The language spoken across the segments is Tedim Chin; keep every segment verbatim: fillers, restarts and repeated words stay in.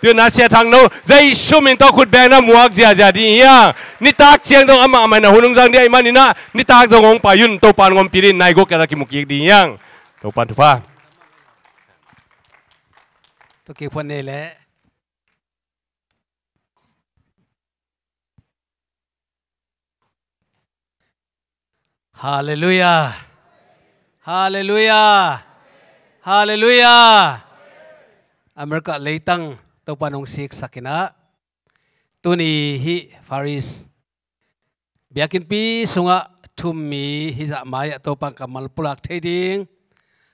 Tun a Sia Thang No, Jesu min tawh khut bengna muak ziazia ding hi hang. Nitak ciang zong amah amah in a hun hong zang ding ahih manin ah, nitak zong hong pai un, Topa in hong ompih ding, nai guk kiang ah kimu kik ding hi hang. Topa in thupha. Tua kik phuan nei leh. Halleluiah. Halleluiah. Halleluiah. America leitang Topa in hong siksak in ah, tuni hih Far East biakinnpi sungah thu-um mi hizah mai-ah Topa in kammal pulak thei ding,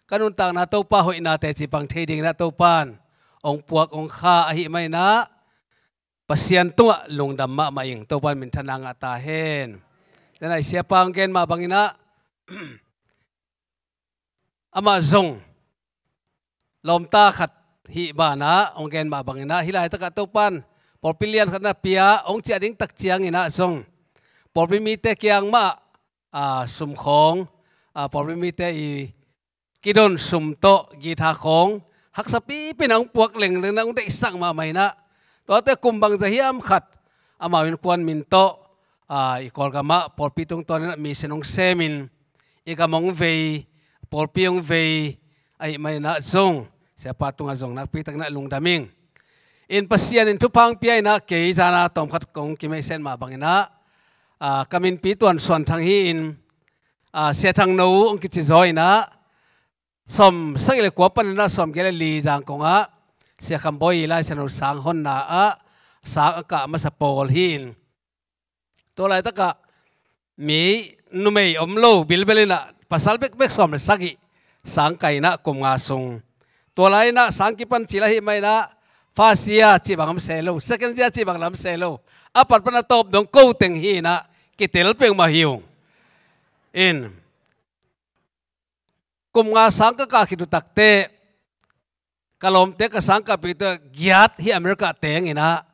ka nuntakna Topa hoihna teci pang thei dingin ah Topa in hong puak hong kha ahih manin ah, Pasian tungah lungdam mahmah ing. Topa in minthanna ngah ta hen. Tena i siapa hong gen mah bangin ah, amah zong lawmta khat hih banah hong gen mah bangin ah, hih laitakah Topa in pawlpi lian khat na pia, hong ciah ding tak ciangin ah zong pawlpi mite kiang mah, a, sum khawng, a, pawlpi mite i kidon sum tawh guitar khawng haksa pipi in ah hong puak lengleng in ah, hong deihsak mahmah in ah, tuate kum bangzah hiam khat amau innkuan min tawh, a, i Kawlgamah pawlpi tungtawnin ah mission hong semin, i gam hong vei, pawlpi hong vei ahih manin ah zong siapa tungah zong nakpi takin ah lungdam ing. In Pasian in thupha hong pia in ah, kei zan a tawmkhat kong kimeihset mah bangin ah, a, ka minpi Tuan Suan Thang hi-in, a, Sia Thang No hong kici zaw in ah, sawm sagih le kua panin ah sawmgiat le li Zangkong ah Sia Kham Bawi i Lai Siangtho sang honna ah sang a kah masa pawl hi-in, tua laitakah mi numei om lo bilbel in ah, pasal bekbek sawm le sagih sang kai in ah kum nga sung. Tua lai in ah sang kipan cil ahih manin ah, first year cih bang lam se lo, second year cih bang lam se lo, a pat pan a tawp dong ko teng hi in ah, kitel peuhmah hi ung. In kum nga sang ka kah khit uh takteh, ka lawmte ka sang kah pih teh giat hih America teng in ah,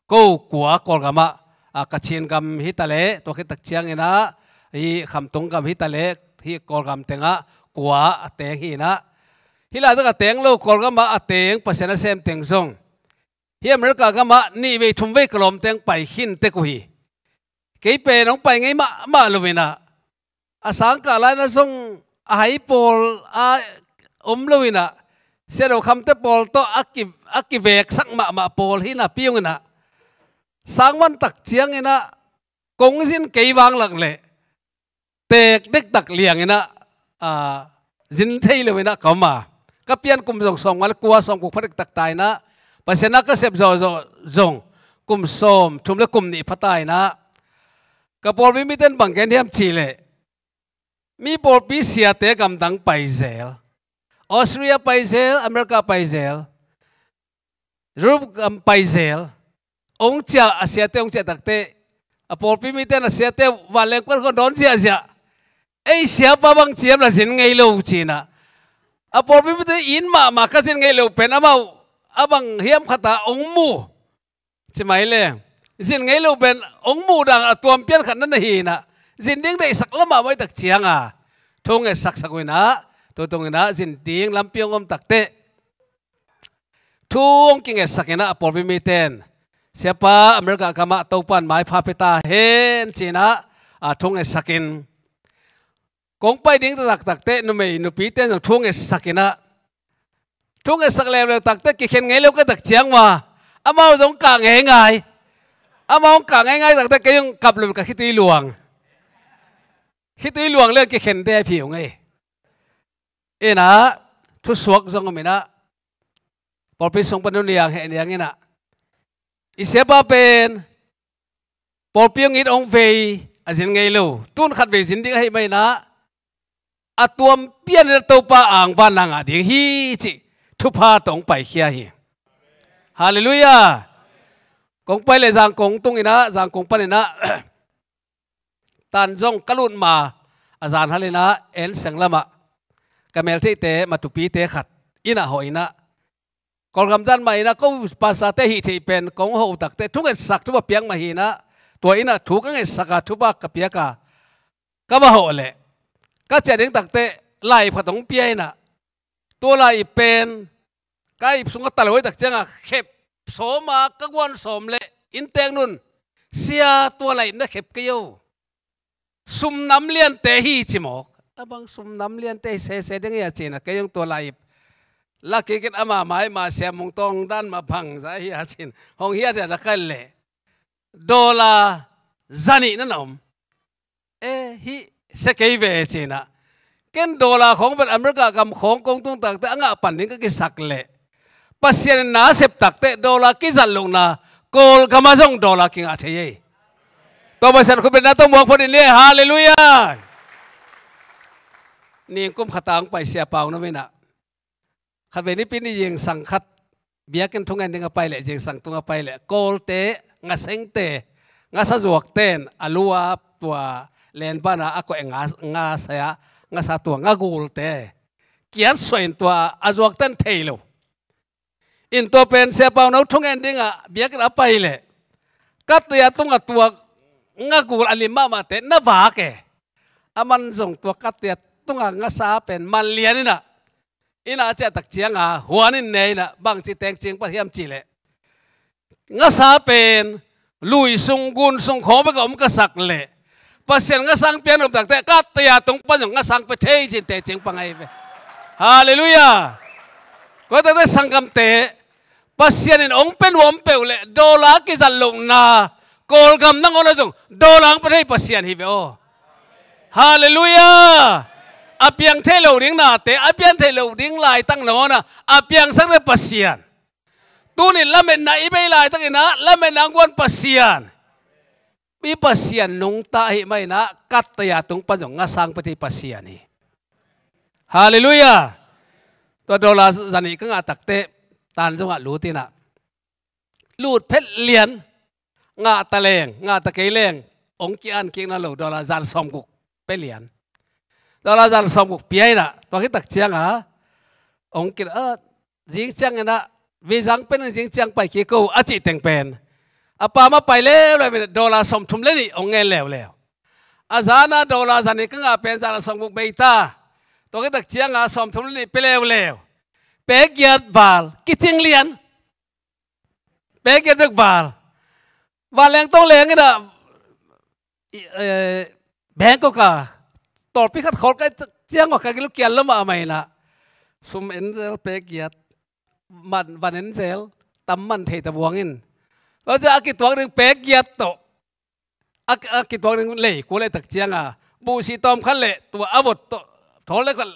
ko kua Kawlgamah, a, Kachin gam hi ta leh, tua khit tak ciangin ah hih Khamtung gam hi ta leh, hih Kawlgam tengah kua a teng hi in ah, hih laitak a teng lo Kawlgamah a teng Pasian a sem teng zong hih America gamah nih vei thum vei ka lawmte hong pai khin tek uh hi. Kei pen hong pai ngei mahmah lo in ah, a sang kah lai-in ah zong a hai pawl a om lo in ah, Sia Do Kham te pawl tawh a ki, a kiveksak mahmah pawl hi napi-in ah, sang man tak ciangin ah kong zin kei vanglak leh teek dektak liang in ah, a, zin thei lo in ah ka om a. Ka pian kum zong sawmnga le kua, sawmguk pha dektak ta in ah, Pasian a ka sep zawhzawh zong kum sawmthum le kum nih pha ta in ah, ka pawlpi mite in bang gen hiam cih leh, mi pawlpi siate gamdang pai zel, Australia pai zel, America pai zel, Europe gam pai zel, hong ciah, a siate hong ciah takteh, a pawlpi mite in a siate vanleng kuan khawng dawn ziahziah. Ei siapa bang ci hiam, la zin ngei lo ci in ah, a pawlpi mite in mahmah ka zin ngei lo pen amau a bang hiam khat ah hong mu ci mai le, zin ngei lo pen hong muh dan a tuam pian khat na na hi in ah, zin ding deihsak lamah mai tak ciang a, thu hong ngetsak sak uh in ah, tu tung in ah zin ding lampi hong om takteh, thu hong kingetsak in ah, a pawlpi mite in, siapa America gamah Topa in maipha pia ta hen ci in ah, a, thu hong ngetsak in, kong pai ding taktakteh numei nupite in zong thu hong ngetsak in ah, thu hong ngetsak leuleu takteh kikhen ngei lo ka tak ciang mah, amau zong kah ngeingai. Amau hong kah ngeingai takteh kei zong kap lo in ka khitui luang. Khitui luang le kikhen dep hi ung ei. In ah, thusuak zong om in ah, pawlpi sung pan nuniang heh niang in ah, i siapa pen pawlpi hong it hong vei a zin ngei lo, tun khatvei zin ding ahih manin ah, a tuam pian in ah Topa angvanna ngah ding hi cih thupha tawh hong paikhia hi. Halleluiah. Kong pai leh Zangkong tung in ah, Zangkong pan in ah, tan zong ka lut ma a zan hal in ah, En Seng lamah ka meltheihte, Matupite khat inn ah hawh in ah, Kawlgam dan mah in ah, ko pastorte hih theih pen kong hawh uh takteh thu ngetsak thupha piak mah hi in ah, tua inn ah thu ka ngetsak a, thupha ka piak a, ka va hawh leh, ka ciah ding takteh lai phat hong pia in ah, tua lai pen ka ip sungah ta lo hi tak ciang a, khep sawm a, ka guan sawm leh inntek nun, "Sia, tua lai na khep kei o. Sum nam liante hi," ci mawk. "A bang sum nam liante hi sese ding hia?" ci-in ah, kei zong tua lai ip la kik in, ama mai mah Sia Mung Tawng dan mah bangzah hia ci-in hong hiathiat a, ka et leh dollar zanih na na om. "E, hih sia kei ve," ci-in ah, ken dollar khawng pen America gam khawng kong tung takteh a ngah pan ding ka kisak leh, Pasian in na sep takteh dollar kizat lohna, Kawlgam ah zong dollar kingah thei ei. Tua Pasian khutbetna tawh muak phot in ni. Halleluiah. Ningkum khat a hong pai Sia Pau Nau in ah, khatvei Nipi ni zingsang khat biakinn thungen ding a pai leh, zingsang tung a pai leh, Kawlte, ngasengte, ngasa zuakte in a lu a tua lenban a a koih nga, ngasa a, ngasa tua ngagulte kiat suah in, tua a zuakte in thei lo in, tua pen Sia Pau Nau thungen ding a biakinn a pai leh, katte a tungah tua ngagul a lim mahmahte na vak e. Aman zong tua katte a tungah ngasa pen man lian in ah, inn ah a ciah tak ciang a huan in ne in ah, "Bangci teng cing pan hiam?" ci leh, "Ngasa pen lui sung, gun sung khawng bek a om ka sak leh, Pasian ngasang pia nop takteh katte a tung pan zong ngasang pia thei," ci-in teci hong pang ahi ve. Halleluiah. Tua hi takteh sanggamte, Pasian in hong pia nuam peuh leh dollar kizat lohna, Kawlgam nangawn ah zong dollar hong pia thei Pasian hi ve aw. Halleluiah. A piang thei lo ding nate, a piang thei lo ding laitak nangawn ah a piangsak thei Pasian. Tuni lametna i bei laitakin ah lametna hong guan Pasian, i Pasian nungta ahih manin ah katte a tung pan zong ngasang pia thei Pasian hi. Halleluiah. Tua dollar zanih ka ngah takteh, tan zongah lut in ah, lut phet lian, ngah ta leng, ngah ta kei leng, hong ki-an kik nawn lo, dollar zan sawmguk pia lian. Dollar zan sawmguk pia in ah, tua khit tak ciang a, hong ki, a, "Zing ciangin ah, Vizang pen zing ciang pai kik o," a cih teng pen, a pa mah pai leuleu in ah, dollar sawmthum le nih hong ngen leuleu. A zan a dollar zanih ka ngah pen zan a sawmguk bei ta. Tua khit tak ciang a sawmthum le nih pia leuleu. Pek giat val, kicing lian. Pek giat bek val. Vanleng tong leng in ah, i, eh, Bangkok a tawlpi khat khawl ka hih ciang a ka gil uh kial lo mahmah in ah, sum en zel pek giat, man, van en zel, tam man thei ta buang in. Tua ciang a kituak ding pek giat tawh, a, a kituak ding lei kua leh tak ciang a, buhsih tawm khat leh tua a vot tawh, thawl leh khat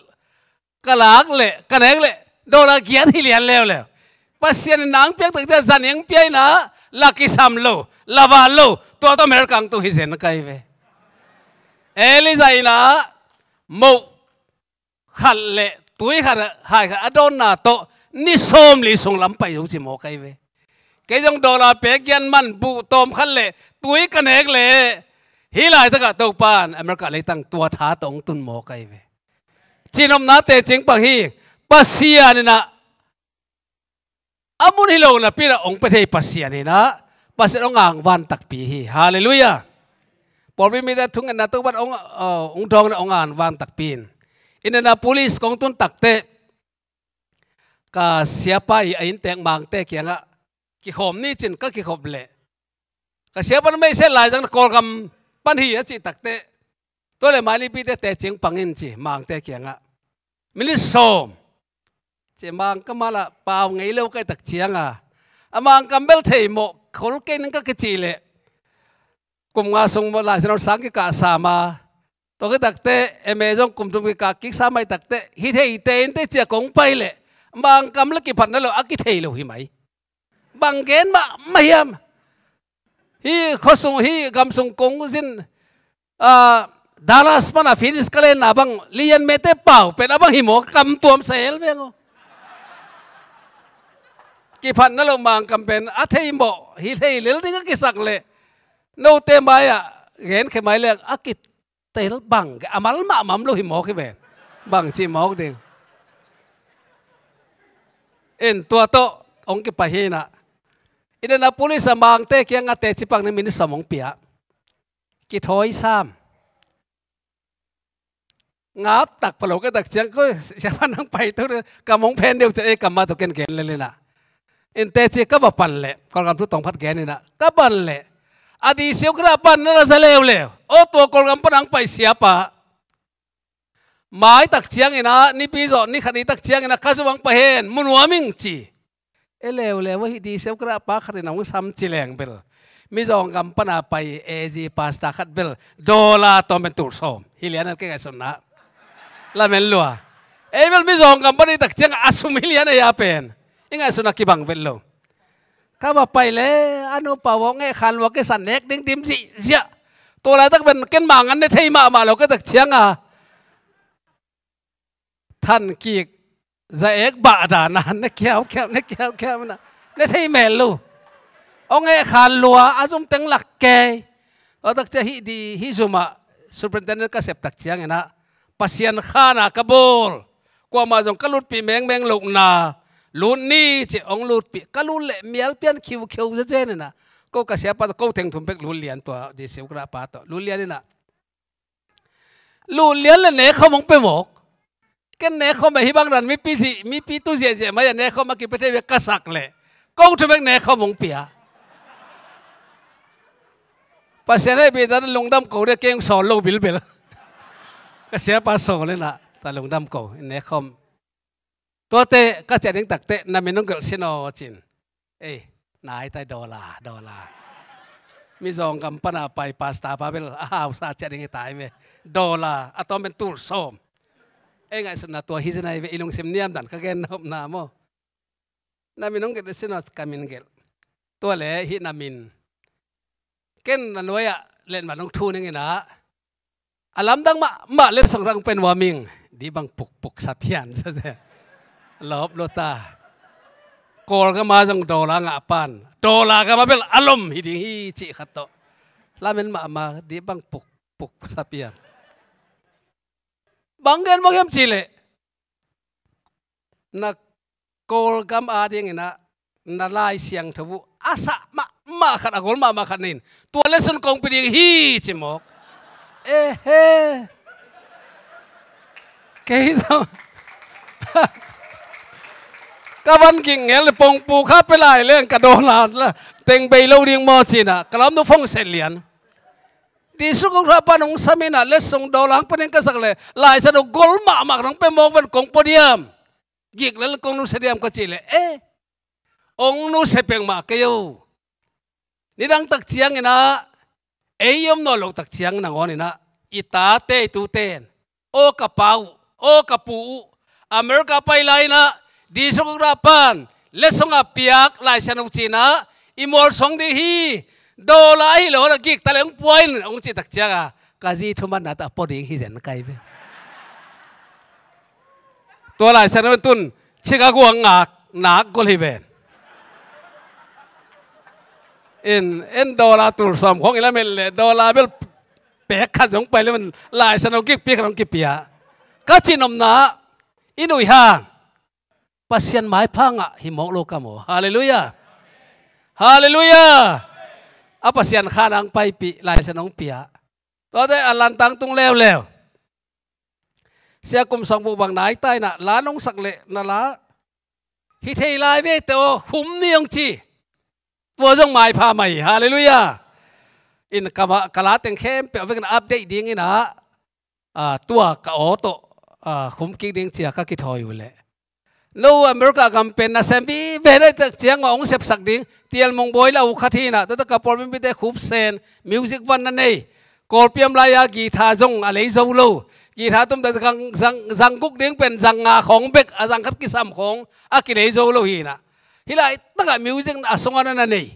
ka lak leh, ka nek leh, dollar giat hi lian leuleu. Pasian in nang piak tak ciang zanih hong pia in ah, la kisam lo, la val lo, tua tawh America hong tu hi zen ka hi ve. Elijah in ah moh khat leh tui khat, hai khat a dawnna tawh ni sawmli sung lam pai zo ci mawk ka hi ve. Kei zong dollar pek giat man, buh tawm khat leh tui ka nek leh, hih laitakah Topa in America leitang tua tha tawh hong tun mawk ka hi ve. Cihnopna teci hong pang hi. Pasian in ah a mun hi lo napi in ah hong pia thei Pasian hi in ah, Pasian hong angvan takpi hi. Halleluiah. Pawlpi mite thungetna Topa in hong, uh, hong dawng in ah hong angvan takpi hi. Indianapolis kong tun takteh, ka siapa ii a inntek Mangte kiangah kikhawm ni ci-in ka kikhop leh, ka siapa in, "Meisen lai zang, Kawlgam pan hi," a cih takteh, "Tua leh Mailipite teci hong pang in," ci Mangte kiangah. Minit sawm. Ci Mangkam ah lah pau ngei lo ka hih tak ciang a, a Mangkam bel thei mawh khol kei ning ka kicih leh, kum nga sung mawh Lai Siangtho sang kikah sam a, tua khit takteh M A zong kum thum kikah kik sam ahih takteh, hi thei teh in teh ci-a kong pai leh, Mangkam leh kiphatna lo, a kithei lo hi mai. Bang gen mahmah hiam? Hih khuasung, hih gamsung kong zin, ah, Dallas pan a Phoenix ka lenna bang, lian mete pau pen a bang hi maw, kam tuam sel veng aw. Kiphatna lo Mangkam pen a thei mawh, hi thei lel ding a kisak leh, note mai-ah genkhia mai leng a kitel bang, a mal mahmah om lo hi mawk hi ven. Bang cih mawk ding. In tua tawh hong kipai hi in ah, Indianapolis a Mangte kiangah teci pang ni, minit sawm hong pia. Kithawi sam. Ngap tak pha lo ka hih tak ciang, "Koi, siapa nang pai to, kam hong phen deuh," ci-a ei kam mah tawh ken gen lel in ah, Innte ci ka va pan leh, Kawlgam thu tawng phat gen inah ka pan leh, a disiu khat pan na na za leuleu. Aw, tua Kawlgam pan ang pai siapa mai tak cianginah, nipi zawh ni khat ni tak cianginah ka zumang pai hen, mu nuam ing ci. E leuleu ahi disiu khat pa khat in a hong sam ci leng bel, Mizawng gam pana pai A G pastor khat bel dollar tawm pen tul sawm hi lian an, kei ngaihsutna. Lamen lua. Ei bel Mizawng gam pan i tak ciang a sum hi lian ei a pen i ngaihsutna kibang vet lo. Ka va pai le a nupa vawk ngeh khan lua, kei san nek ding dim zihziah. Tua laitak pen ken mangan ne thei mahmah lo ka tak cianga than kik za ek bah dana ne kiaukiau ne kiaukiau na ne thei mel lo. Hong ngeh khan lua, a zum teng lak kei. Tua tak ciah hih di hih zumah superintendent ka sep tak cianginah Pasian khana ka bawl. Kuamah zong ka lutpih mengmeng lohna lut ni ci hong lutpih. Ka lut leh mial pian khiukheu zezen inah ko ka siapa tawh ko theng thum bek lut lian, tua disiu khat pa tawh lut lian inah. Lut lian le nekhawm hong pe mawk. Ken nekhawm a hi bang dan mipi zih, mipi tu ziahziah mai a nekhawm a kipe thei bek ka sak leh ko thu bek nekhawm hong pia. Pasian hei bih dan lungdam ko deh, kei hong sawl lo bilbel. Ka siapa sawl inah ta lungdam ko in nekhawm. Tuate ka ciah ding takteh na min hong gelh sin aw cin. Ei, nai tai, dollar, dollar. Mizawng gam pana pai pastor pa bel a hausa ciah ding hi tai ve. Dollar a tawm pen tul sawm. Ei ngaihsutna tua hi zenai ve, i lungsim niamdan ka gen nopna maw. Na min hong gelh sin aw, ka min gelh. Tua le hih na min. Ken na nuai-ah letmat hong thu ning inah a lamdang mahmah letsong rang pen wa ming di bang pukpuk sapian sa se. Lawp lo ta. Kawlgam a zong dollar ngah pan, dollar gam a bel a lom hi ding hi cih khat tawh lamen mahmah di bang pukpuk sapian. Bang gen mawk hiam cih leh na Kawlgam adinginah na Lai Siangtho uh a sah mahmah khat, a gol mahmah khat na in, tua lesson kong pia ding hi ci mawk. Ehe. Kei zong ka van ging ngel le pongpu kha pe lai leng ka dollar teng bei lo ding maw cinah ka lamnu phong set lian. Dih suk uh rah pan hong sam inah letsong dollar hong pe ding ka sak leh Lai Siangtho gol mahmah khat hong pe mawk ven, kong pua diam? Gik lel kong nusia diam ka cih leh, e, hong nusia peng mah kei o. Nidang tak cianginah ei i om nawn loh tak ciang nangawninah i tate i tuten, aw ka pa uh, aw ka pu uh, America pai lai inah dih suk uh rah pan letsong a piak Lai Siangtho uh cinah i mualsuang ding hi. Dollar ahi lo na gik ta le hong pua in hong cih tak cianga ka zi thumanna tawh a pua ding hi zen kai ve. Tua Lai Siangtho tun Chicago a ngak nak gol hi ven. In, en dollar tul sawm khong i lamen leh dollar bel pek khat zong pai le men Lai Siangtho gikpi khat hong kipia. Ka cih nopna i nuih hang Pasian maipha ngah hi mawk lo ka maw. Halleluiah. Halleluiah. A Pasian kha nang paipih Lai Siangtho hong pia. Tuate a lantang tung leuleu. Sia Kum Sawng Buh bang nai ta inah la nong sak leh na la hi thei lai ve te aw, khum ni hong ci. Tua zong maipha mai. Halleluiah. In ka va, ka la teng khempeuh a vekin update dinginah, a, tua ka aw tawh, a, khum kik ding cia ka kithawi uh leh no America gam pen nasem vive na tak ciang mah hong sepsak ding Tial Mung Bawi le a uh khat hinah, tuate ka pawlpi mite khupsen music van na nei. Kawlpi om lai-a guitar zong a lei zo lo. Guitar tumte zang, zang, zang guk ding pen zang nga khawng bek, a zang khat kisam khawng a kilei zo lo hinah. Hih laitakah music a sungah na na nei.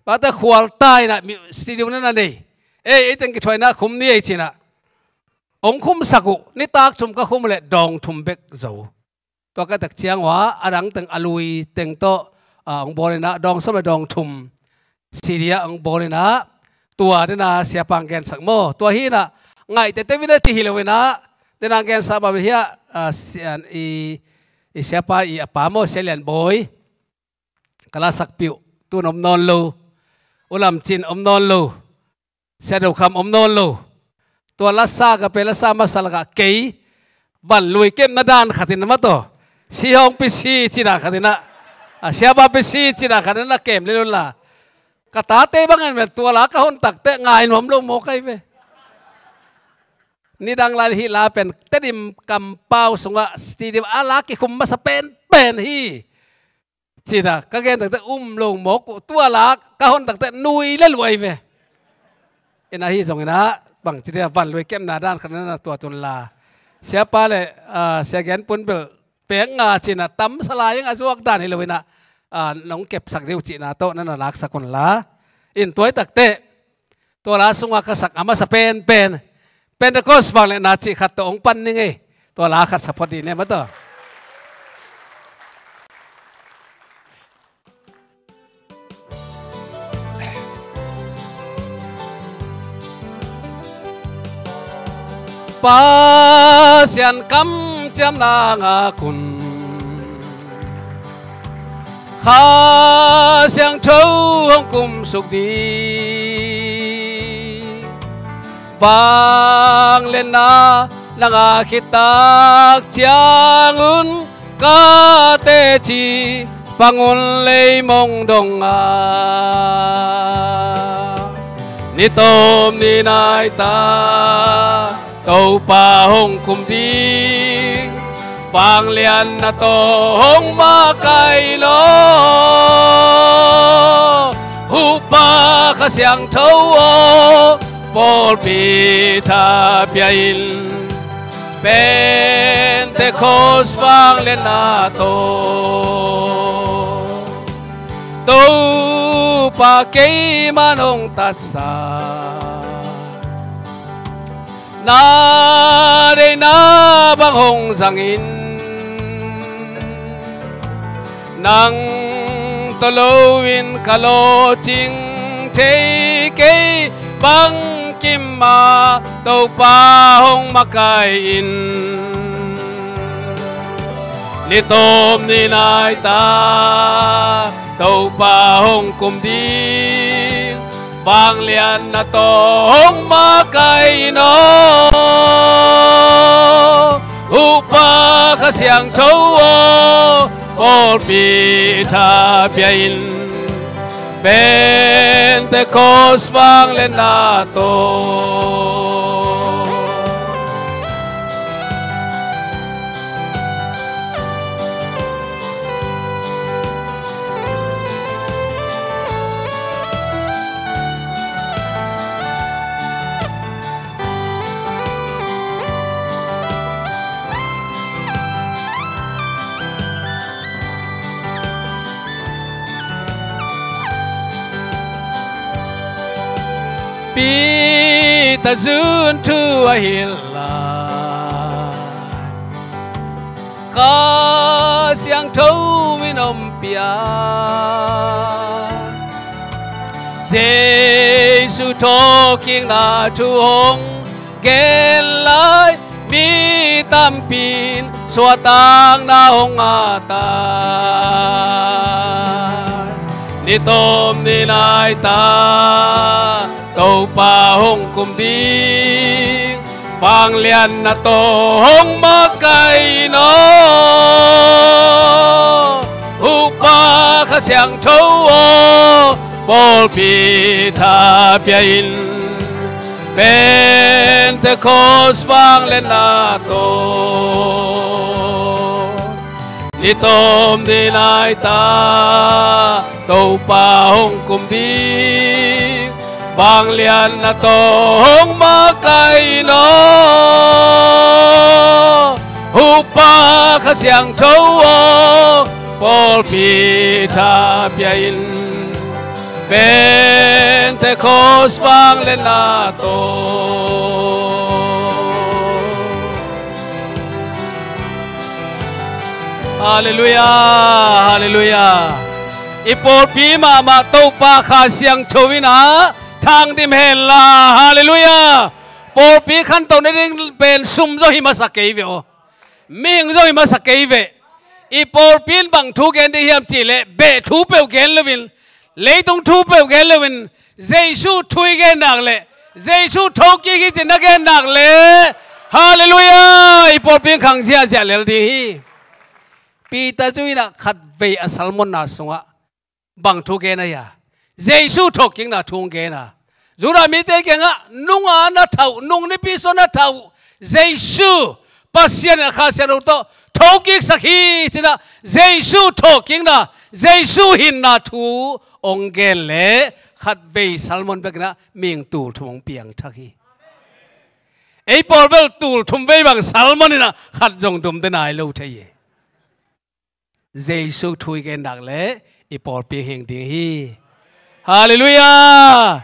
Pate khualta inah mu-, studio na na nei. Ei, ei teng kithuaina khum ni ei cinah hong khumsak uh. Nitak thum ka khum uh leh dawng thum bek zo. Tua ka tak ciang uh a, a dang teng a lui teng tawh, a, hong bawl inah dawng sawm le dawng thum C D ah hong bawl inah tua dena siapa hong gensak maw. Tua hinah ngaihte te vina ti hi lo inah dena hong gensak bang hiah, a, si-, an, i, i siapa i a pa maw, Sia Lian Bawi. Ka la sakpih uh tun om nawn lo. U Lam Cin om nawn lo. Sia Do Kham om nawn lo. Tua lasa ka pe lasa masa lakah kei van lui kemna dan khatin a mataw, si hong pi si ci dan khatinah A, siapa pi si cina khat na kem lel unla. Ka tate bangin mel tua la ka hon takteh ngai nuam lo mawk ai ve. Nidang lai hih la pen Tedim kampau sungah stadium a la kikhum masa penpen hi. Cina ka gen takteh um lo mawk uh, tua la ka hon takteh nui le luai ve. Ina hi zong ina bang ci dia van lui kemna dan khat na na tuat unla. Siapa le, ah, sia gen pun bel pek nga cina tam salai eng a zuak dan hi lo ina, ah, nong kepsak dih uh cihna tawh na na laksak unla. In tuai takteh tua la sungah ka sak a masa penpen Pentecost vangliatna cih khat tawh hong pan ning ei. Tua la khat sa phot dih ne maw tawh. Pasian kamciamna ngak un. Kha Siangtho hong kumsuk dih. Vangliatna na ngak khit tak ciangun ka teci pangun leimong dongah ni tawm ni nai ta Topa hong kum ding, vangliatna tawh hong makaih in aw. Hupa Kha Siangtho aw, pawlpi tha pia in, Pentecost vangliatna tawh. Topa keiman hong tatsa, na deihna bang hong zangin, nang tawh loin ka lawhcing thei kei bangkim ah Topa hong makaih in. Ni tawm ni nai ta Topa hong kum ding, vangliatna tawh hong makaih in aw. Hupa Kha Siangtho aw, pawlpi tha pia in, Pentecost vangliatna tawh. Peter zun thu a hilh lai, Kha Siangtho in om pia. Jesu thawhkikna thu hong gen lai, mi tampi in suahtakna hong ngah ta. Ni tawm ni nai ta Topa hong kum ding, vangliatna tawh hong makaih in aw. Hupa Kha Siangtho aw, pawlpi tha pia in, Pentecost vangliatna tawh. Ni tawm ni nai ta Topa hong kum ding, vangliatna tawh hong makaih in aw. Hupa Kha Siangtho aw, pawlpi tha pia in, Pentecost vangliatna tawh. Halleluiah, halleluiah. I pawlpi mahmah Topa Kha Siangtho in a thangdim henla. Halleluiah. Pawlpi khantohna ding pen sum zaw hi masa kei ve aw. Mihing zaw hi masa kei ve. I pawlpi in bang thu gen ding hiam cihleh beh thu peuh gen loin, leitung thu peuh gen loin, Jesu thu i gen nak leh, Jesu thokik hi cih na gen nak leh, halleluiah, i pawlpi in khang ziahziah lel ding hi. Peter zui inah khatvei a sermon-na sungah bang thu gen a hia? Jesu thawhkikna thu hong gen a, Judah mite kiangah nunga na thauh, nung nipi sua na thauh Jesu, Pasian in a Kha Siangtho tawh thokiksak hi ci-inah Jesu thawhkikna, Jesu hinna thu hong gen leh khatvei sermon bekinah mihing tul thum hong piangthak hi. Ei pawl bel tul thum vei bang sermon inah khat zong dum de nai lo thei hi. Jesu thu i gen nak leh i pawlpi hing ding hi. Halleluiah.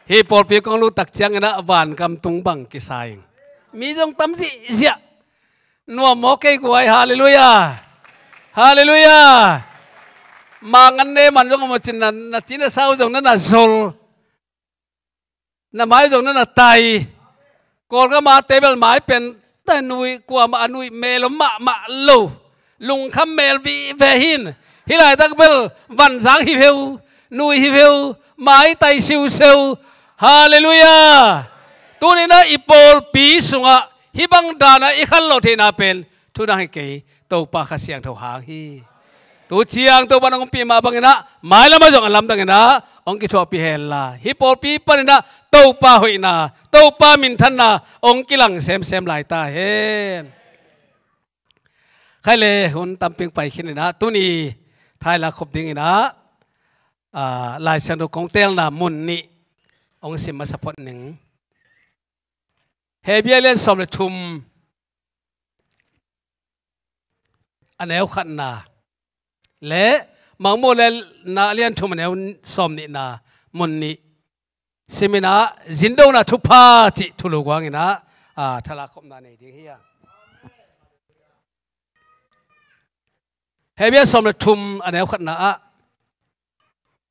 Hih pawlpi kong lut tak cianginah vangam tung bang kisa ing. Mi zong tam zihziah. Nuam maw kei guai? Halleluiah. Halleluiah. Mangan ne man zong a mucin na, na ci na sau zong na na zol. Na mai zong na na tai. Kawlgam a table mai pen ta nui, kuamah a nui mel om mahmah lo. Lungkham mel vive hin. Hih laitak bel vanzang hi veu, nui hi veu, mai tai siuseu. Halleluiah. Tuninah i pawlpi sungah hih bang danah i khanlawh theihna pen thu dang hi kei, Topa Kha Siangtho hang hi. Tu ciang Topa nong ompih mah banginah mailamah zong a lamdanginah hong kithuahpih henla, hih pawlpi paninah Topa hoihna, Topa minthanna hong kilang semsem lai ta hen. Khaile, hun tamping pai khininah tuni thaila khop dinginah, ah, Lai Siangtho kong teelna mun nih hong sim masa phot ning. Hebru lian sawm le thum a neu khatna le Mangmuhna lian thum a neu sawm nihna mun nih siminah zindona thupha cih thulu guanginah, ah, thalak khopna nei ding hi a. Hebru sawm le thum a neu khatna ah,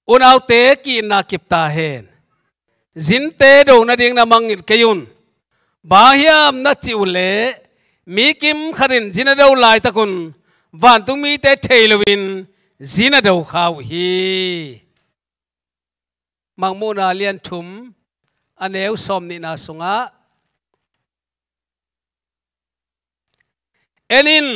unaute ki-itna kip ta hen. Zinte do nading na mangngilh kei un. Bang hiam na cih uh leh mi kim khat in zin a do laitakun vantungmite thei loin zin a do kha uh hi. Mangmuhna lian thum a neu sawm nihna sungah, en in,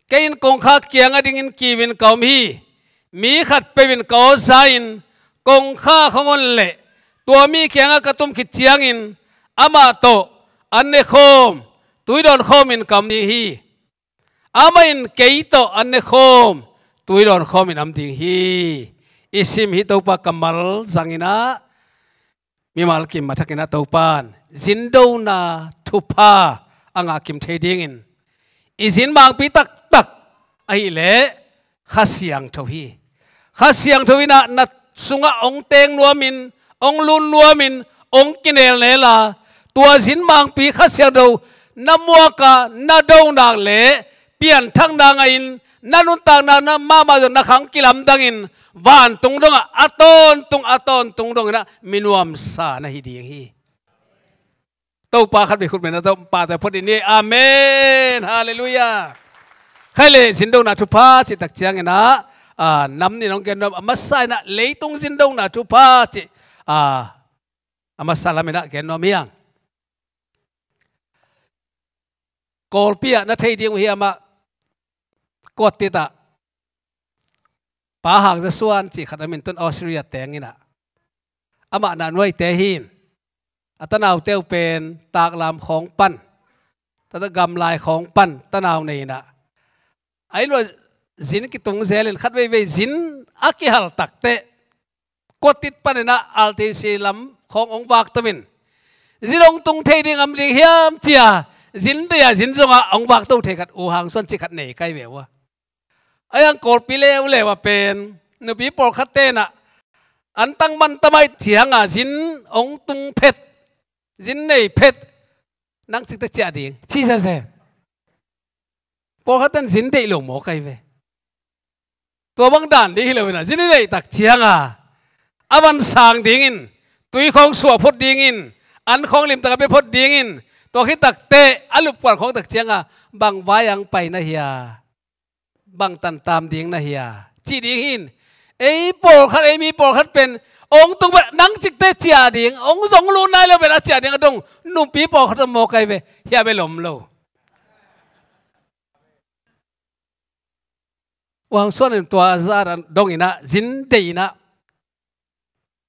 kei in kongkha kiang a dingin kiu in ka om hi. Mi khatpeuh in ka aw za-in kongkha khong on leh tua mi kiangah ka tum khit ciangin amah tawh an nekhawm, tuidawn khawmin ka om ding hi. Amah in kei tawh an nekhawm, tuidawn khawmin om ding hi. I sim hih Topa kammal zanginah mimal kim a thakinah Topan zindona thupha a ngah kim thei dingin i zin mangpi taktak ahih leh Kha Siangtho hi. Kha Siangtho inah na sungah hong teng nuamin, hong lun nuamin, hong kinelnel a, tua zin mangpi Kha Siangtho na muak a, na do nak leh pianthakna ngah in, na nuntakna na mahmah zong na khang kilamdangin vantung dongah a tawntung, a tawntung donginah mi nuamsa na hi ding hi. Topa khat vei khut beng na tawh pahtawi phot in ni. Amen. Halleluiah. Khaile, zindona thupha cih tak cianginah, ah, nam nih nong gen nuam a masa inah leitung zindona thupha cih, ah, a masa laminah gen nuam hiang. Kawlpi ah na thei ding uh hi amah, kuat titah Pa Hang Za Suan cih khat a min tun Australia tenginah amah na nuaite hin a tanaute uh pen taklam khawng pan, tata gamlai khawng pan tanau nei inah a inn luah zin kitung zelin khat veivei zin a kihal takteh kuat tit paninah R T C lam khawng hong vak tomin zin hong tung thei ding am ding hiam cia zin deih a zin zongah hong vak to thei khat U Hang Suan cih khat nei kai ve uh a. A yang Kawlpi leuleu a pen nupi pawlkhat tenah an tang man tamai cianga zin hong tung phet, zin nei phet, nang cikte ciah ding ci sese. Pawlkhat ten zin deih lo maw kai ve. Tua bang dan ding hi lo inah zin i neih tak cianga a van sang dingin, tui khawng suah phot dingin, an khawng limtak a bia phot dingin, tua khit takteh a lupkuan khawng tak cianga bang vai ang pai na hia, bang tantam ding na hia cih ding hin. Ei pawlkhat, ei mi pawlkhat pen hong tung pen nang cikte ciah ding, hong zong lut nai lo pen a ciah ding a dong nupi pawlkhat a maw kai ve. Hiah bel om lo. Uang Suan in tua zah dongin ah zin deih in ah,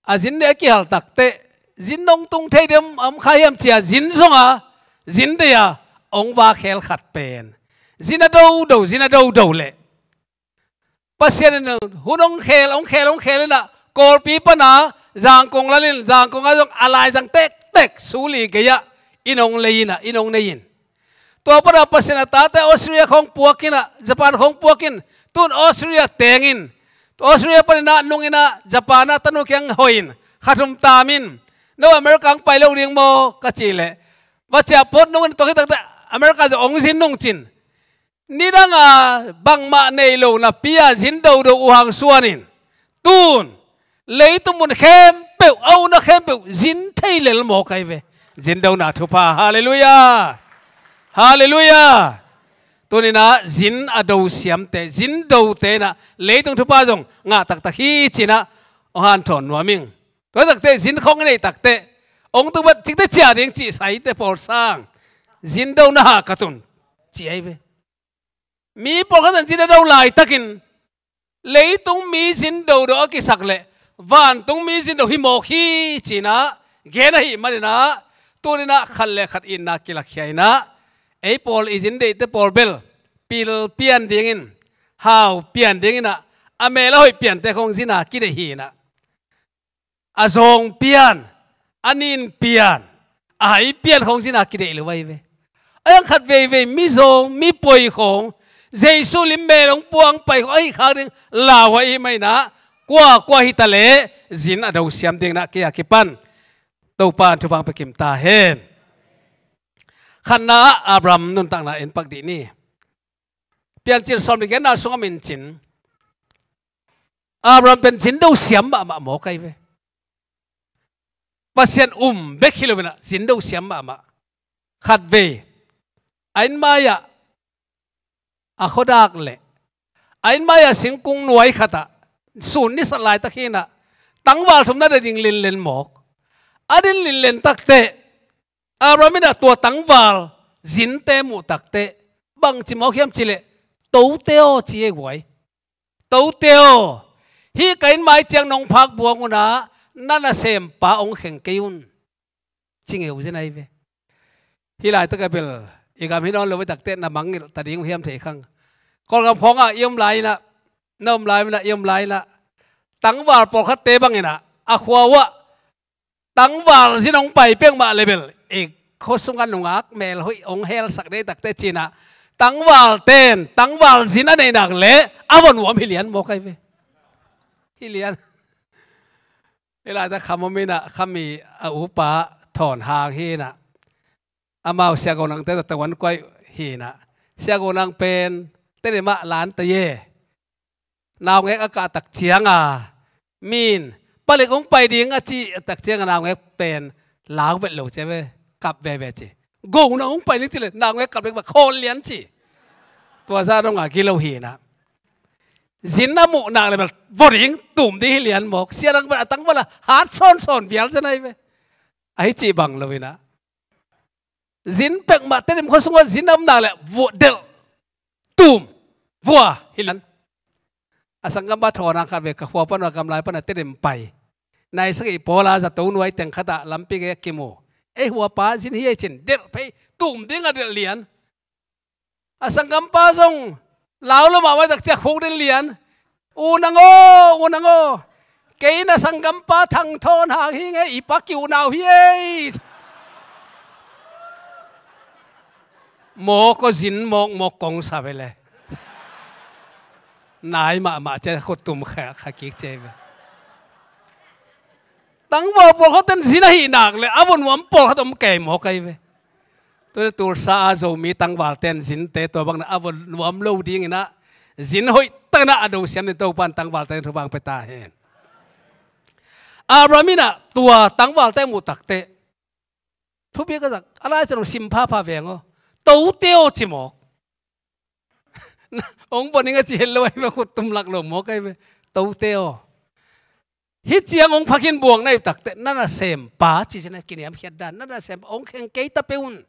a zin deih a kihal takteh, zin dong tung thei ding om kha hiam ci-a zin zong a, zin deih a, hong vak khel khat pen, zin a dodo, zin a dodo leh Pasian in hun hong khel, hong khel, hong khel in ah, Kawlpi pan a Zangkong lal in, Zangkong ah zong a laizang tektek, suli gei ah inn hong lei in ah, inn hong nei in. Tua pan a Pasian a tate Australia khawng puak in ah, Japan khawng puak in, tun Australia teng in, Australia pan in ah nung in ah, Japan ah tanu kiang hoih in, kha thum tam in, no America hong pai lo ding maw ka cih leh, va ciah phot nung in, tua khit takteh America zong hong zin nung cin. Nidang a bangmah nei lo napi a zin dodo uh hang suan in, tun leitung mun khempeuh, a ukna khempeuh zin thei lel mawk ahi ve. Zin dona thupha, halleluiah. Halleluiah. Tuni in ah zin a do siamte, zin dote in ah leitung thupha zong ngah taktak hi ci-in ah hong hanthawn nuam ing. Tua takteh zin khawng i neih takteh, hong tung vat cikte ciah ding cih saite pawl sang, zin dona hah ka tun ci ahi ve. Mi pawlkhat in zin a do laitakin, leitung mi zin dodo a kisak leh vantung mi zin do hi mawk hi ci-in ah gen ahih manin ah, tuni in ah khat le khat itna kilakkhia in ah, ei pawl i zin deihte pawl bel pil pian dingin, hau pian dingin ah, a mel a hoih piante khawng zin a kideih hi in ah, a zawng pian, a nin pian, a hai pian khawng zin a kideih lo ahi ve. A hiang khat veivei mi zawng, mi poi khawng, Jesu lim mel hong puang pai khawng ahi khak ding lau ahih manin ah, kuakua hi ta leh zin a do siam dingin ah kei a kipan Topa'n thupha hong pia kim ta hen. Khatna ah Abraham nuntakna en pak dih ni. Piancil sawmli genna sungah min cin, Abraham pen zin do siam mahmah mawk ahi ve. Pasian um bek hi lo in ah zin do siam mahmah. Khatvei a inn mai-ah, a khuadak leh a inn mai-ah singkung nuai khatah sun ni sat laitak hi in ah, tangval thum na de ding linlen mawk. A din linlen takteh, Abraham in ah tua tangval zinte muh takteh, bangci mawk hiam cih leh, "Tote aw," ci ei guai. "Tote aw, hih ka inn mai ciang nong phak buang un ah, na nasempa hong kheng kei un," ci ngeu zen ahi ve. Hih laitak a bel i gam hi nawn lo, hih takteh na mangngilh ta ding uh hiam thei khang. Kawlgam khawngah i om lai in ah, na om lai in ah, i om lai in ah, tangval pawlkhatte bangin ah, a khua uhah tangval zin hong pai peuhmah leh bel, i khua sungah nungak mel hoih hong helsak ding takteh ci-in ah, tangvalte'n tangval zin a neih nak leh a vua nuam hi lian mawk ahi ve. Hi lian. Hih laitak kham om in ah, kham i a upa Thawn Hang hi in ah, amau Sia Go Nang te tawh tawan kuai hi in ah, Sia Go Nang pen Tedim ah lan ta ye. Naungek a kah tak ciang a, mi'n, "Palik hong pai ding," a cih tak ciang a, naungek pen lau vet lo ci ve, kap veve ci. "Go Nang hong pai ding," ci leh naungek kap leh khawl lian ci. Tua zah dong a gilo hi in ah, zin a muh nak leh bel vua ding, tum ding hi lian mawk. Sia Dang bel a tangval a hat sawnsawn vial zen ahi ve. Ahi cih bang lo in ah, zin peuhmah, Tedim khua sungah zin a om nak leh vua, delh, tum, vua hi lian. A sanggampa Thawn Hang khatvei ka khua pan uh a, gamlai pan a Tedim pai, nai sagih pawl a zato nuai teng khatah lampi gei a kimu. "Ei, huapa zin hi ei," ci-in delh phei, tum ding a delh lian. A sanggampa zong lau lo mahmah, tak ciang khuk ding lian. "U Nang aw, U Nang aw, kei na sanggampa Thang Thawn Hang hi ing ei, i pa ki-unau hi ei." Mawk aw, zin mawkmawk kong sa ve leh. Nai mahmah ci-a khut tum kha, kha kik ci ve. Tangval pawlkhatte'n zin ahih nak leh a vua nuam pawlkhat om kei mawk ahi ve. Tua leh Tulsa a Zomi tangvalte'n zinte tua bangin a vua nuam lo dingin ah, zin hoih takin ah a do siam dingin Topa'n tangvalte thupha hong pia ta hen. Abraham in ah tua tangvalte muh takteh, thupi ka zak, a Lai Siangtho sim phapha veng aw. "Tote aw," ci mawk. "Hong vua ning," a ci het lo ahi ve, khut tum lak lo mawk ahi ve. "Tote aw, hih ciang hong phak in buang na hih takteh, na nasempa," ci zen a, kiniamkhiat dan, "na nasempa hong kheng kei ta peuh un.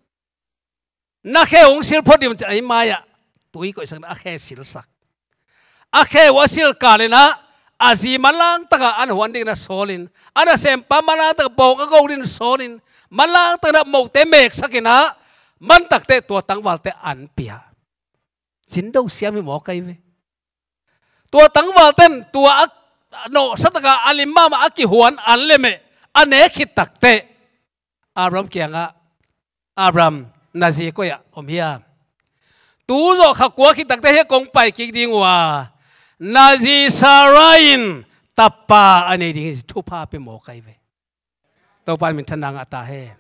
Na khe hong sil phot ding un," ci-in a inn mai-ah tui koihsak in a khe silsak. a kheu a silkal inah, a zi manlang takah an huan dingin a sawlin, a nasempa manlang takah bawng a go dingin sawlin, manlang takah mohte meksak inah, mantakte tua tangvalte an pia. Zindo siam hi mawk ahi ve. Tua tangvalten tua a nawhsa takah a lim mahmah a kihuan an le meh, a nek khit takteh Abraham kiangah, "Abraham, na zi koi-ah om hiam? Tu zawh kha kua khit takteh hiah kong pai kik ding uh a, na zi Sarah in tapa a nei ding hi," thupha pia mawk ahi ve. Topa in minthanna ngah ta hen.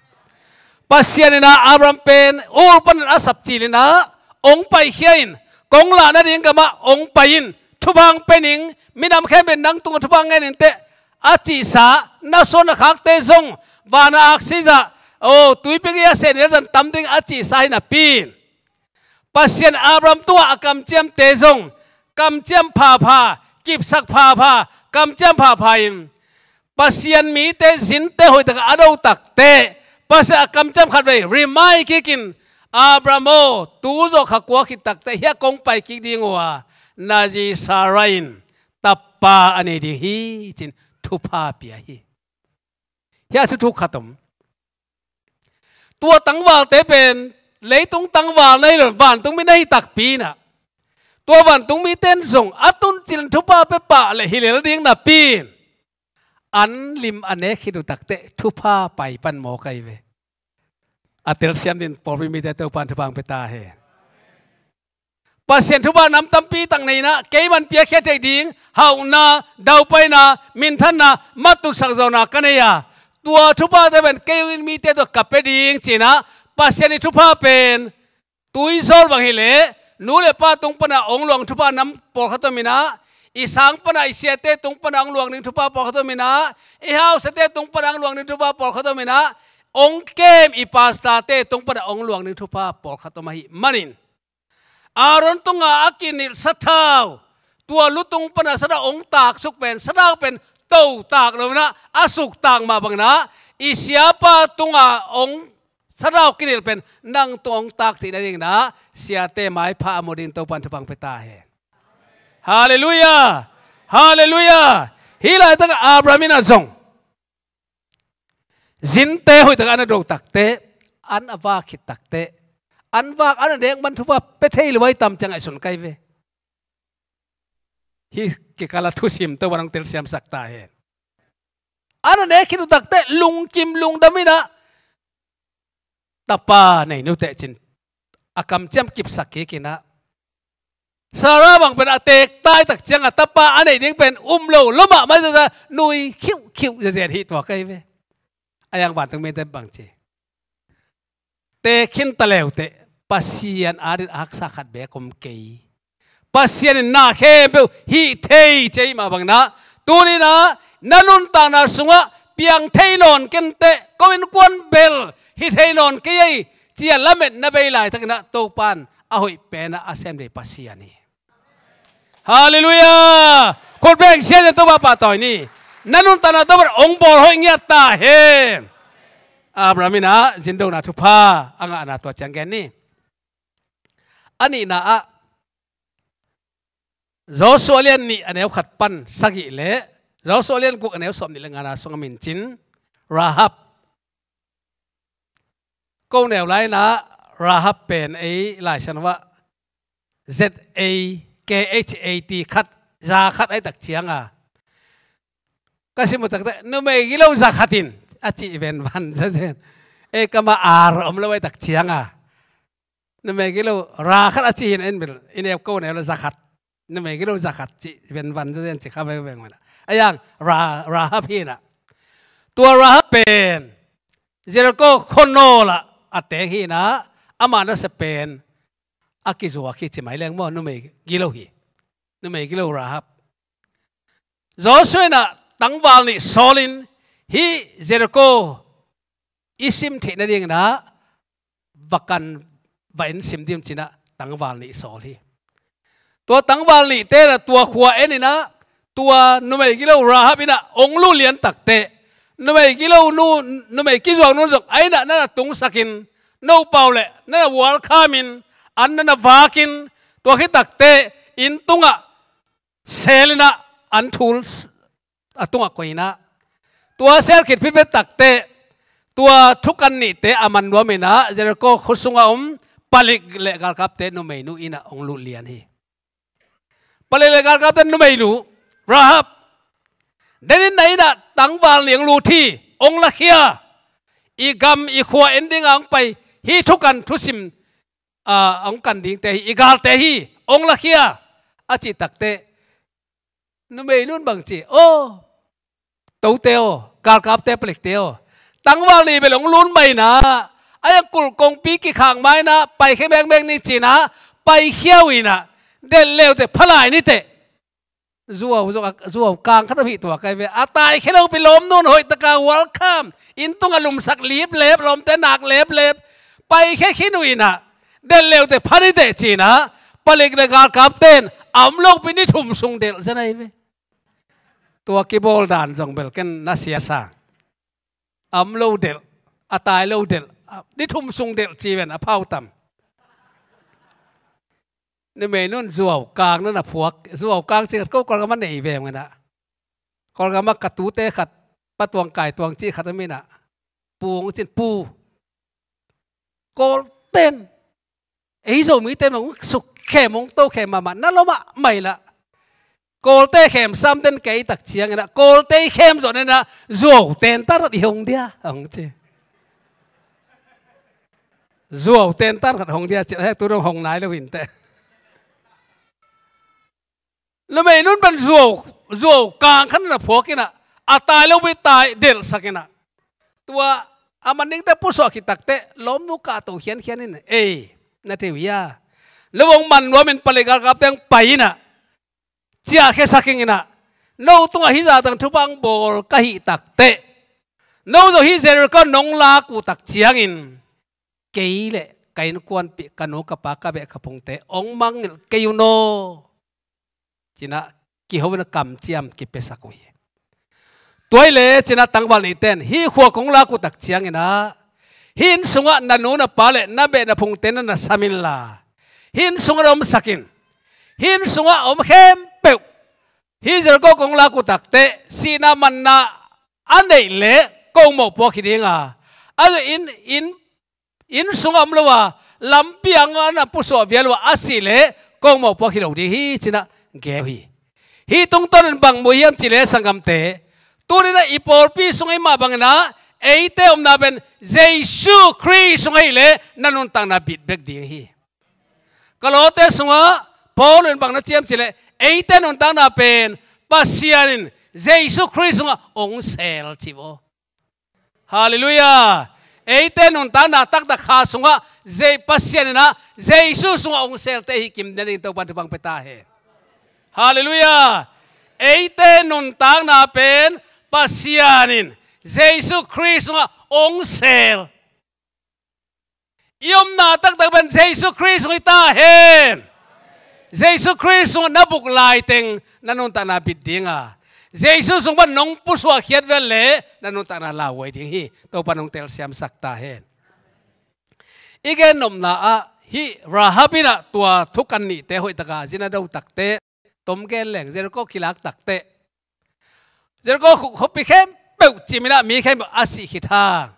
Pasian inah Abraham pen Ur panin a sapcil inah, "Ong paikhia in, kong lah nading gamah ong pai in, thupha ong pia ning, minam khempeuh in nang tungah thupha ngen inteh," a cihsa, na suan na khakte zong vana aksi zah, o, tuipi gei-a seh ni leh zan tam ding a cihsa hi napi in, Pasian Abraham tungah a kamciamte zong kamciam phapha, kipsak phapha, kamciam phapha in, Pasian mite zinte hoihtak a do takteh, Pasian a kamciam khatvei remind kikin, "Abraham aw, tu zawh kha kua khit takteh hiah kong pai kik ding uh a, na zi Sarah in tapa a nei ding hi," ci-in thupha pia hi. Hiah thuthuk khat om. Tua tangvalte pen leitung tangval na hi lo, vantung mi na hi takpi inah, tua vantung mite in zong a tuncil in thupha pia pah leh hi lel ding napi in, an lim a nek khit uh takteh thupha pai pan mawk ahi ve. A telsiam dingin pawlpi mite Topa in thupha ong pia ta hen. Pasian thupha nam tampi tak nei inah, keiman piakhia theih ding hauhna, daupaina, minthanna, matutsak zawhna ka nei a, tua thuphate pen kei ung in mite tawh ka pia ding ci-in ah, Pasian ii thupha pen tuizawl bang hileh, nu le pa tung pana ong luang thupha nam pawlkhat om inah, i sang pana i siate tung pana ong luang ding thupha pawlkhat om inah, i hausate tung pana ong luang ding thupha pawlkhat om inah, ong kem i pastorte tung pana ong luang ding thupha pawlkhat om ahih manin, Aaron tunga a kinilh sathau, tua lu tung pana sathau ong taksuk pen, sathau pen to tak lo inah, a suktak mah bang inah, i siapa tunga ong sathau kinilh pen nang tung ong tak theih nading inah, siate maipha a mu dingin Topa in thupha ong pia ta hen. Halleluiah! Halleluiah! Hih laitak Abraham in ah zong zinte hoihtak a na do takteh, an a vak khit takteh, an vak, an a nek man thupha pia thei lo ahi tam ci-a ngaihsun ka hi ve. Hih kikal a thusim Topa in hong telsiamsak ta hen. An a nek khit uh takteh lungkim lungdam inah, "Tapa nei ni uh teh," ci-in a kamciam kipsak kik inah, Sarah bang pen a teek tai tak ciangah tapa a neih ding pen um lo lua mahmah hi zia, nui khiuhkhiuh ziaziat hi tuak ahi ve. A iang vantung mite bang ci, teek khin ta leuteh Pasian adingin a haksa khat beek om kei. Pasian in na khempeuh hih thei ci ahih mah bang inah, tuni inah na nuntakna sungah piang thei nawn kei inteh, ko innkuan bel hi thei nawn kei ei, ci-a lamet na bei laitak inah Topa in a hoih pen ah a sem ding Pasian hi. Halleluiah! Khut beng siasia Topa pahtawi ni. Na nuntakna Topa in hong bawl hoih ngiat ta hen. Abraham in ah zindona thupha a ngahna tua ciang gen ni. A nihna ah Joshua lian nih a neu khat pan sagih le Joshua lian guk a neu sawmnih le ngana sungah mincin Rahab. Ko neu lai inah Rahab pen ei Lai Siangtho ah Z A K H A T khat, za khat ahih tak ciangah, ka sim uh takteh numei gilo za khat in a cih venvan zazen. Ei kam ah ar om lo ahih tak ciangah, numei gilo ra khat a cih hi inah, en bel i neu ko neu le za khat, numei gilo za khat cih venvan zazen ci kha vengveng mah inah. A iang Ra-, Rahab hi inah. Tua Rahab pen Jericho khuanawl ah a teng hi inah, ama nasep pen a kizuak hi ci mai leng maw, numei gilo hi. Numei gilo Rahab. Joshua in ah tangval nih sawl in, hih Jericho i sim theih nading inah va kan, va en sim ding ci-in ah tangval nih sawl hi. Tua tangval nihte in ah tua khua en inah, tua numei gilo Rahab in ah hong lulian takteh, numei gilo nu, numei kizuak nu zong a inn ah na na tungsak in, no pau le na na welcome in, an na na vak in, tua khit takteh inn tungah sel in ah an thul a tungah koih in ah, tua sel khit phit bek takteh tua thukan nihte a man nuam in ah Jericho khua sungah om palik le galkapte numeinu in ah hong lut lian hi. Palik le galkapte numeinu Rahab, den in na in ah tangval nih hong lut hi, hong lakhia, i gam i khua en dingah hong pai, hih thukan thusim, ah, hong kan dingte hi, i galte hi, hong lakhia, a cih takteh numeinu in bang ci? Aw, tote aw, galkapte, palikte aw, tangval nih bel hong lut mah in ah, a yang kulh kongpi kikhak mah in ah, paikhia bekbek ni ci in ah, paikhia uh in ah, delh le uh teh, pha lai ni teh. Zuau, zuau, zuau kang khat om hi tua kai ve. A taikhia lopi lawmnu in hoih takin welcome, inn tungah lumsak liplep, lawmte nak leplep, paikhia khin uh in ah, delh le uh teh, pha ni teh ci in ah, palik le galkapte in a om lopi ni thum sung delh zen ahi ve. Tua kibawl dan zong bel ken na sia sa. A om lo delh, a tai lo delh, a, ni thum sung delh ci ven, a phau tam. Numeinu in zuau kang na na phuak, zuau kang cih khat ko Kawlgam ah nei ve mah in ah. Kawlgam ah ka tute khat, Pa Tuang, Kai Tuang cih khat om in ah, Pu hong ci in, Pu, Kawlte in ei Zomite in hong sukkhem, hong tokhem mahmah, na lua mahmah hi lah. Kawlte khemsa om den kei tak ciangin ah, Kawlte i khem zawh in ah, zuau tentan khat i hong dia, hong ci. Zuau tentan khat hong dia ci, hek tu dong hong nai lo hi inteh. Numeinu in bang zuau, zuau kang khat na phuak in ah, a tai lopi tai delhsak in ah, tua a man dingte pusuah khit takteh lawmnu kahto khiankhian in, ei, na thei uh hia? No hong man nuam in, palik galkapte hong pai in ah, ciahkhiasak ing in ah, no tungah hih zah tang thupha hong bawl ka hih takteh, no zong hih Jericho nong lak uh tak ciangin, kei le ka innkuanpih, ka nu ka pa, ka beh ka phungte hong mangngilh kei un aw, ci in ah kiho in ah kamciam kipiasak uh hi. Tua hi leh ci in ah tangval nihte in hih khua kong lak uh tak ciangin ah, hih inn sungah na nu na pa le na beh na phungte na na sam inla, hih inn sungah na omsak in. Hih inn sungah a om khempeuh, hih Jericho kong lak uh takteh sihna manna a neih leh kong mawhpuak hi ding a, a inn, inn inn sungah om lo a, lampi ah na pusuah vial uh a, a sih leh kong mawhpuak hi lo ding hi, ci in ah gen uh hi. Hih tungtawn in bang mu hiam cih leh sanggamte, tuni in ah i pawlpi sungah i mah bangin ah, eite omna pen Jesu Khrist sungah hi leh na nuntakna bit bek ding hi. Kolose sungah Paul in bang na ci hiam cih leh, eite nuntakna pen Pasian in Jesu Khrist sungah hong sel ci uh aw. Halleluiah. Eite nuntakna taktak Kha sungah, Je-, Pasian in ah Jesu sungah hong selte i hi kim ding Topa'n thupha pia ta hen. Halleluiah. Eite nuntakna pen Pasian in Jesu Khrist sungah hong sel. I omna taktak pen Jesu Khrist sung hi ta hen. Jesu Khrist sungah na buk laiteng na nuntakna bit ding a, Jesu sung pan nong pusuah khiat vel leh na nuntakna lauhuai ding hi. Topa'n hong telsiamsak ta hen. I gen nopna ah, hih Rahab in ah tua thukan nihte hoih takin zin a do takteh, tom gen leng, Jericho kilak takteh, Jericho khuapi khempeuh cim in ah, mi khempeuh a sih khit hang,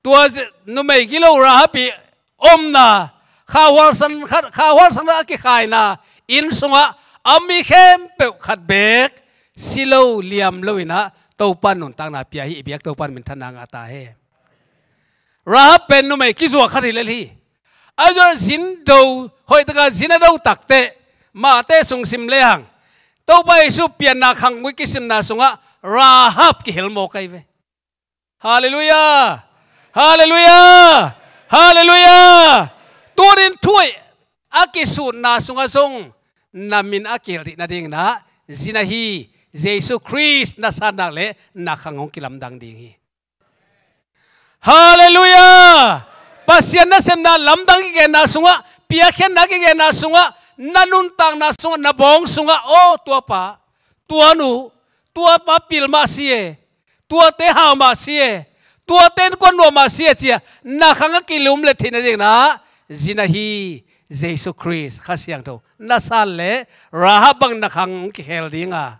tua numei gilo Rahab i omna, kha hualsan khat, kha hualsan khat a kikhaina inn sungah a mi khempeuh khat beek si lo, liam lo in ah Topa'n nuntakna pia hi. I biak Topa'n minthanna ngah ta hen. Rahab pen numei kizuak khat hi lel hi. A zua zin do, hoih takin zin a do takteh, Mate sung sim lehang, Topa Jesu pianna khang gui kisimna sungah Rahab kihel mawk ahi ve. Halleluiah. Halleluiah. Halleluiah. Tunin thuhoih a kisutna sungah zong na min a kihel theih nadingin ah, zin ahi Jesu Khrist na sat nak leh na khang hong kilamdang ding hi. Halleluiah. Pasian nasepna lamdang kigenna sungah, piakkhiatna kigenna sungah, na nuntakna sungah, na bawng sungah, aw, tua pa, tua nu, tua pa pil mah si e, tuate hau mah si e, tuate innkuan nuam mah si e, ci-a na khang a kilumlet theih nadingin ah, zin ahi Jesu Khrist Kha Siangtho na san le Rahab bangin na khang hong kikhel ding a.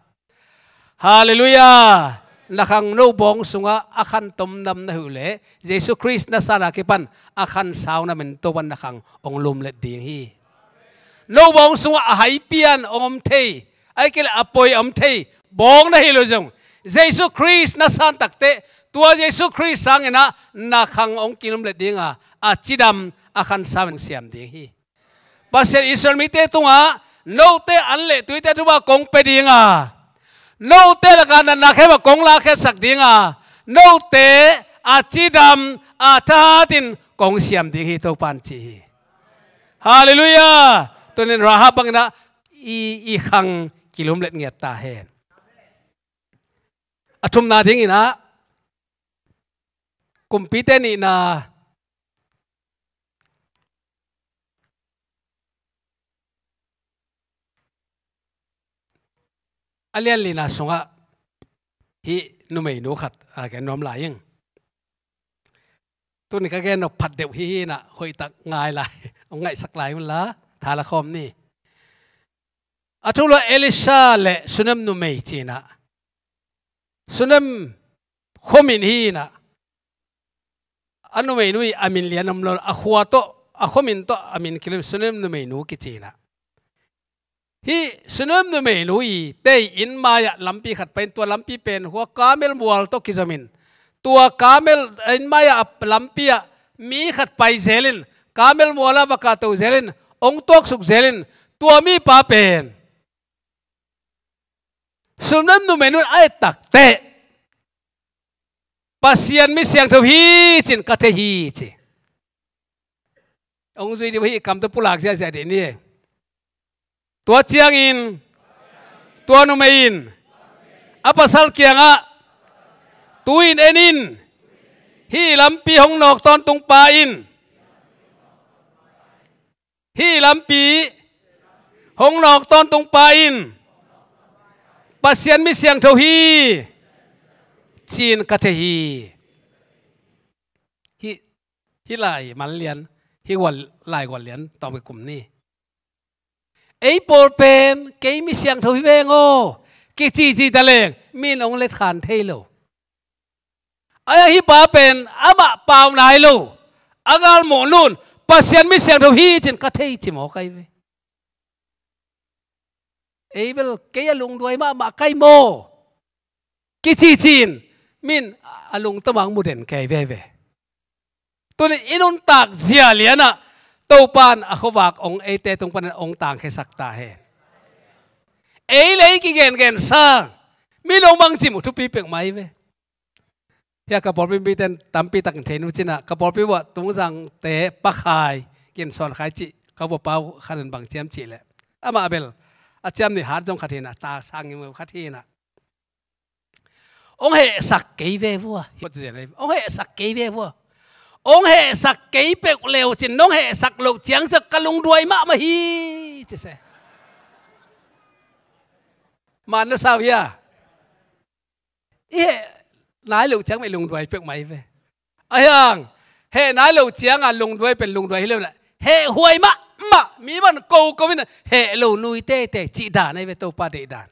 Halleluiah. Na khang no bawng sungah a khan tomdam na hi uh leh Jesu Khrist na san a kipan a khan sau namin Topan na khang hong lumlet ding hi. No bawng sungah a hai pian hong om thei, ahih kei leh a poi a om thei bawng na hi lo zong, Jesu Khrist na san takteh tua Jesu Khrist sangin ah na khang hong kilumlet ding a, a cidam a khan sau in hong siam ding hi. Pasian Israel mite tungah note an le tuite tungah kong pia ding a, note lakah natna khem a kong lakkhiatsak ding a, note a cidam a thahatin kong siam ding hi, Topan ci hi. Halleluiah. Tunin Rahab bangin ah i, i khang kilumlet ngiat ta hen. A thumna dingin ah Kumpite nihna a lian lina sungah hih numeinu khat a gen nuam lai ing. Tuni ka gen nop phat deuh hi hi inah hoihtak ngai lai, hong ngaihsak lai unla tha la khawm ni. A thulu ah Elisha le Sunem numei ci inah, Sunem khuamin hi inah, a numeinu i a min lian om lo, a khua tawh, a khuamin tawh a min kilem, Sunem numeinu kici inah. Hih Sunem numeinu i tei inn mai-ah lampi khat pai in, tua lampi pen hua Karmel mual tawh kizomin, tua Karmel inn mai-ah a lampi ah mi khat pai zelin, Karmel mual ah va kahto zelin, hong tuaksuk zelin, tua mipa pen Sunem numeinu in a et takteh, Pasian mi siangtho hi ci-in ka thei hi ci. Hong zui dih uh hi, i kam tawh pulak ziahziah dih ni. Tua ciangin tua numei in a pasal kiangah, tu-in en in, hih lampi hong nawk tawntung pa in, hih lampi hong nawk tawntung pa in Pasian mi siangtho hi ci-in ka thei hi. Hih, hih lai man lian, hih gual, lai gual lian tawm i kum ni. Ei pawl pen kei mi siangtho hi veng aw kicici ta leng mi in hong letkhan thei lo. Ahi a, hih pa pen amah pau nai lo, a galmuhnu in Pasian mi siangtho hi ci-in ka thei ci mawk ahi ve. Ei bel kei a lungduai mahmah ka hi maw kicici-in mi in a lungtang mah hong mu den kei veve. Tunin i nuntak zia lianah Topa in a khuavak hong eite tung panin hong tangkhiasak ta hen. Ei le ei kigengen sang mi in hong bangci mu thupi peuhmah hi ve. Hia ka pawlpi mite in tampi takin thei nu cinah, ka pawlpi uah Tungzangte pakhai, kin sawn khai cih ka vua pau khat in bang ciam cih leh, amah bel a ciam nih hat zong khat hinah, ta sang ngimngim khat hinah. Hong hehsak kei ve vua. Hong hehsak kei ve vua. Hong hehsak kei peuh leu cin, nong hehsak loh ciang ciah ka lungduai mahmah hi ci se. Man na sau hia? I heh nai loh ciang mah i lungduai peuhmah hi ve. Ahi hang heh nai loh cianga lungduai pen lungduai hi lo inah, heh huai mahmah, mi man koko inah heh lo nui teitei cih dan ahi ve, Topa deih dan.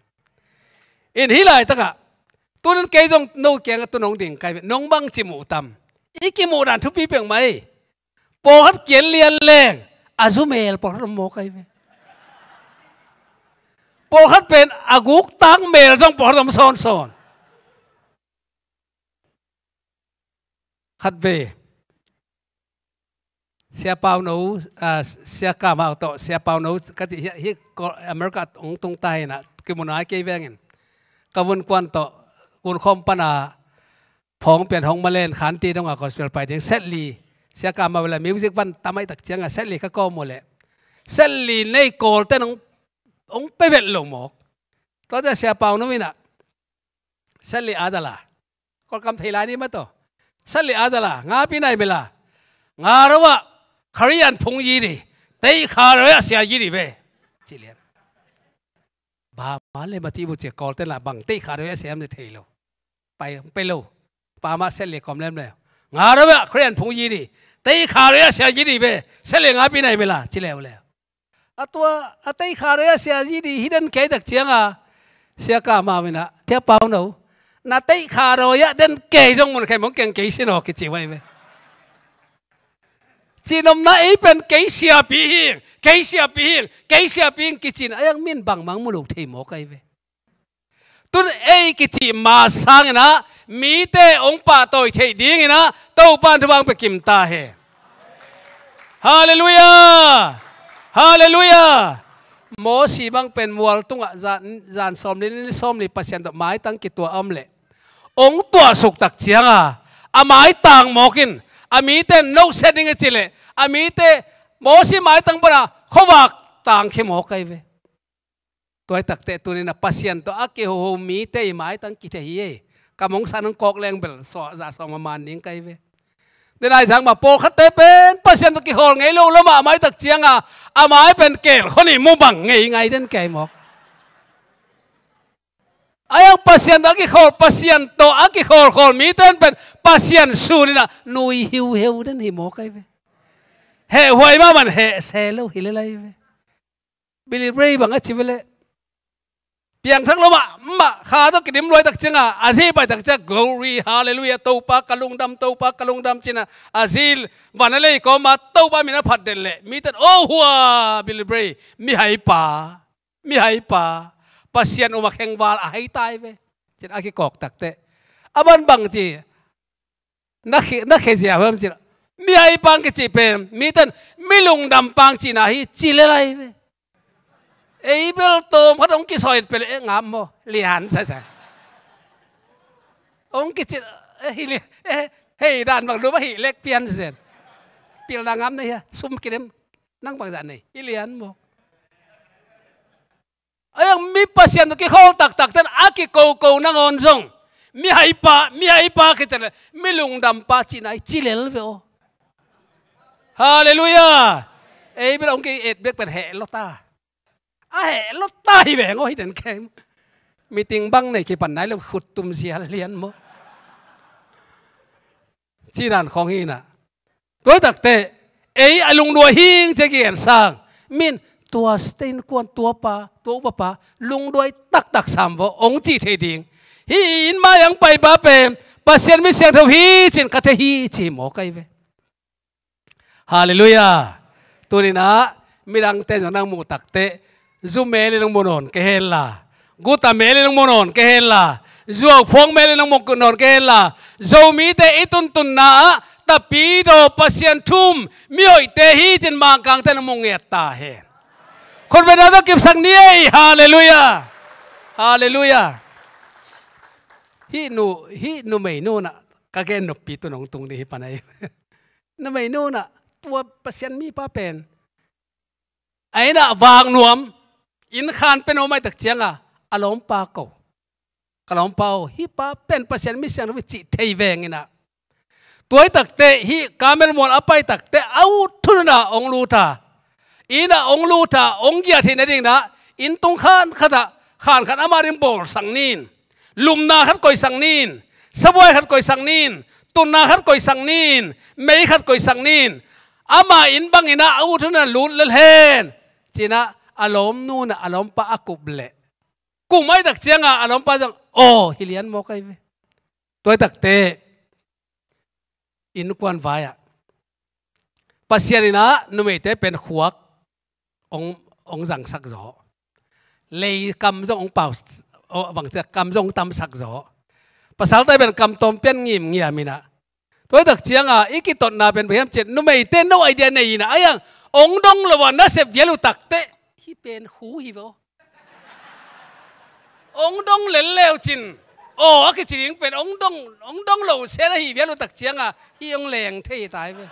In hih laitakah tunin kei zong no kiangah tun hong ding kai ve, nong bangci muh tam? I kimuh dan thupi peuhmah hi. Pawlkhat kian lian leng a zu mel pawlkhat om mawk ahi ve. Pawlkhat pen a guk tang mel zong pawlkhat om sawnsawn. Khat ve Sia Pauno, ah, Sia Kamau tawh Sia Pauno ka cih hi, hi America hong tung ta hinah, kimu nai kei vengin ka vunkuan tawh gunkhawm pana phawng pian hong malen khanti dongah gospel pai ding set li, Sia Kamau le music van tam ahih tak cianga set li ka kawm uh leh, set li nei Kawlten hong, hong pia vet lo mawk. Tua ciah Sia Pauno inah set li a dala, Kawlkam thei lai ni mah tawh, set li a dala, nga pi nai mela, nga ro ah kharian phung yi di, tei kha ro ah sia yi di ve ci lian. Ba ma le ma ti bu cia Kawlten la bang tei kha ro ah sia am ni thei lo. Pai, pai lo. Pa mah set li kawm lem le, nga ro ah kharian phung yi di, tei kha ro ah sia yi di ve, set li nga pi nai mela ci leu le. A tua a teikha roi ah Sia G D hi den kei tak cianga Sia Kah Mau in ah, Sia Pau No, na teikha roi ah den kei zong mun khen mong keng kei sin aw kici uh ahi ve. Cihnopna ei pen kei siapi hing, kei siapi hing, kei siapi hing kici in a iang min bangmang mu lo thei mawk ahi ve. Tun ei kicih ma sangin ah mite hong pahtawi theih dingin ah Topa in thupha hong pia kim ta hen. Halleluiah! Halleluiah! Mosi bang pen mual tungah zan, zan sawmli, ni sawmli Pasian tawh maitang kituah a om leh hong tuahsuk tak cianga a maitang mawk in, a mite in nohsia ding a cih leh a mite Mosi maitang pana khuavak tangkhia mawk ahi ve. Tua hi takteh tuni-in ah Pasian tawh a kihoho mite i maitang kithei hi ei. Ka mong san hong kawk leng bel suah zah suah maman ding ka hi ve. Denai zang mah pawlkhatte pen Pasian tawh kikhawl ngei lo lua mahmah hi tak cianga a mai pen keelkhua nih mu bang ngei ngai den kei mawk. A iang Pasian tawh a kikhawl, Pasian tawh a kikhawlkhawl mite in pen Pasian sun in ah nui hiuheu den hi mawk ahi ve. Hehhuai mahmah in heh se lo hi lel ahi ve. Billy Ray bang a ci ve leh piangthak lo mahmah, kha tawh kidim luai tak cianga a zi pai tak ciang glory, halleluiah, Topa ka lungdam, Topa ka lungdam ci-in ah a zi van a lei kawma Topa min a phat den leh mite in oh hua Billy Ray, mihaipa, mihaipa, Pasian um a khengval a hai ta hi ve ci-in a kikawk takteh a ban bang ci na khe, na khezia huam cih mihaipa hong kicih pen mite in mi lungdampa hong cihna hi ci lel ahi ve. Ei bel tawm khat hong kisawi pia leh eh ngap maw, lian sasa. Hong kicih eh hi lian, eh hei dan bang dum ahi lek pian zen. Pilna ngam na hia, sum kidem nang bangzah nei hi lian maw. A iang mi Pasian tawh kikhawl taktak ten a kikoko nangawn zong mihaipa, mihaipa kici leh mi lungdampa cihna hi ci lel ve aw. Halleluiah. Ei bel hong ki-et bek pen heh lua ta. A heh lua ta hi veng aw hi den kei. Meeting bang nei kipan nai lo khut tum zial lian maw. Ci dan khawng hi in ah. Tua hi takteh ei a lungduai hing ci a kigen sang min tua state innkuan tuapa, tua upapa lungduai taktak sam vaw hong cih thei ding. Hih inn mai hong paipa pen Pasian mi siangtho hi ci-in ka thei hi ci hi mawk ahi ve. Halleluiah. Tuni-in ah midangte zong nang muh takteh zu mel in hong mu nawn kei hen la, guta mel in hong mu nawn kei hen la, zuauphuang mel in hong mu nawn kei hen la, Zomite i tuntunna ah Tapidaw Pasian thu-um mihoihte hi ci-in Mangkangte in hong mu ngiat ta hen. Khutbetna tawh kipsak ni ei. Halleluiah. Halleluiah. Hih nu, hih numeinu in ah ka gen noppi tun hong tung ding hi pan ahi. Numeinu in ah tua Pasian mipa pen a inn ah vak nuam, inn khan pen om ahih tak cianga a lawmpa ko, ka lawmpa aw, hih pa pen Pasian mi siangtho hi cih thei veng in ah. Tua hi takteh hih Karmel mual a pai takteh a ut hun in ah hong lut a, inn ah hong lut a, hong giat theihna dingin ah inn tung khan khat ah khan khat ama ding bawlsak ni in, lumna khat koihsak ni in, sabuai khat koihsak ni in, tunna khat koihsak ni in, mei khat koihsak ni in, ama inn bangin ah a ut hun in ah lut lel hen ci-in ah a lawmnu in ah a lawmpa a kup leh kum ahih tak cianga a lawmpa zong aw hi lian mawk ahi ve. Tua hi takteh innkuan vai-ah Pasian in ah numeite pen khuak hong, hong zangsak zaw, lei kam zong hong pau, aw, bangci a kam zong hong tamsak zaw. Pasalte pen kam tawm pian ngimngiam in ah. Tua hi tak cianga i kitotna pen bang hiam cih leh numeite no idea nei in ah, a iang hong dong lo a nasep vial uh takteh hih pen hu hi ve aw. Hong dong lel leu cin aw a kici ding pen hong dong, hong dong lo sen ahi vial uh tak cianga hih hong leng thei ta hi ve.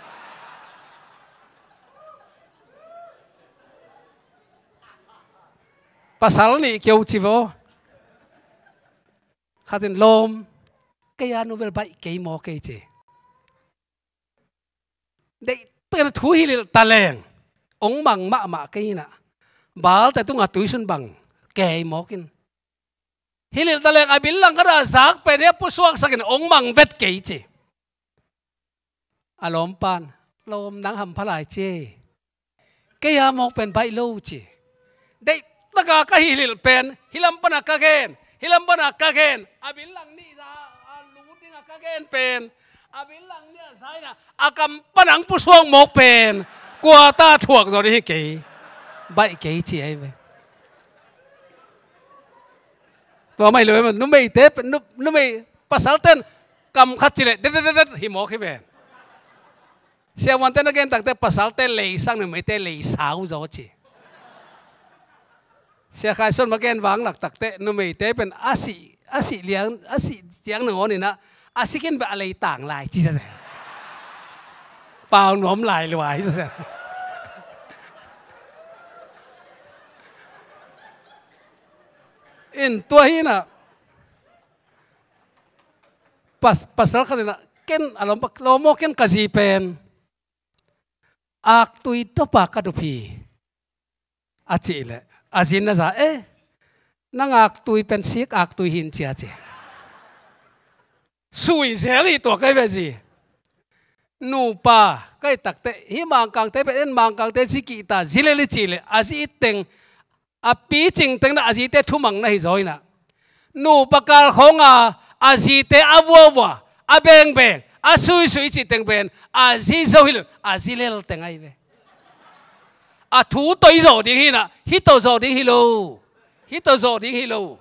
Pasal nih keu ci ve aw. Khat in lawm, kei a nu bel baih kei maw kei ci. Deihtakin thu hilh ta leng hong mang mahmah kei in ah, balte tungah tuisun bang kei mawk in. Hilh ta leng a bil langkhat ah zak pen hi a pusuaksak in hong mang vet kei ci. A lawmpa in lawm nang hampha lai ci. kei a mawk pen baih lo ci. Deih taka ka hilhilh pen, hih lam pana ka gen, hih lam pana ka gen, a bil lang nih za a lut dinga ka gen pen, a bil lang nih a zaina a kam pana ang pusuak mawk pen, kua ta thuak zaw ding hi kei, baih kei ci ahi ve. Tua mah hi lo, numeite, nu-, numei, pasalten kam khat cileh det det det hi mawk hi ve. Siavuante na gen takte pasalte leisang, numeite leisau zaw ci. Sia Khai Suan ma gen vang lak takte numeite pen a sih, a sih liang, a sih ciang nangawn inah a sikin beh a leitang lai ci sasa. Pau nuam lai lua hi sasa. In tua hi inah pas-, pasal khat inah ken a lawm pa, lawm aw ken ka zi pen aktui dopa ka dup hi a cih leh a zin na za e, nang aktui pen sik aktui hin cia ci. Sui zel hi tua kai ve zi. Nupa kai takte hih Mangkangte pen en Mangkangte zi kihta zi lel i cih leh a zi it teng a picing teng na a zite thumang na hi zaw inah nupa kal khawnga a zite a vuavua, a bengbeng, a suisui cih teng pen a zi zo hi lo, a zi lel teng ahi ve. A thu tawh i zawh ding hi inah hih tawh zawh ding hi lo. Hih tawh zawh ding hi lo.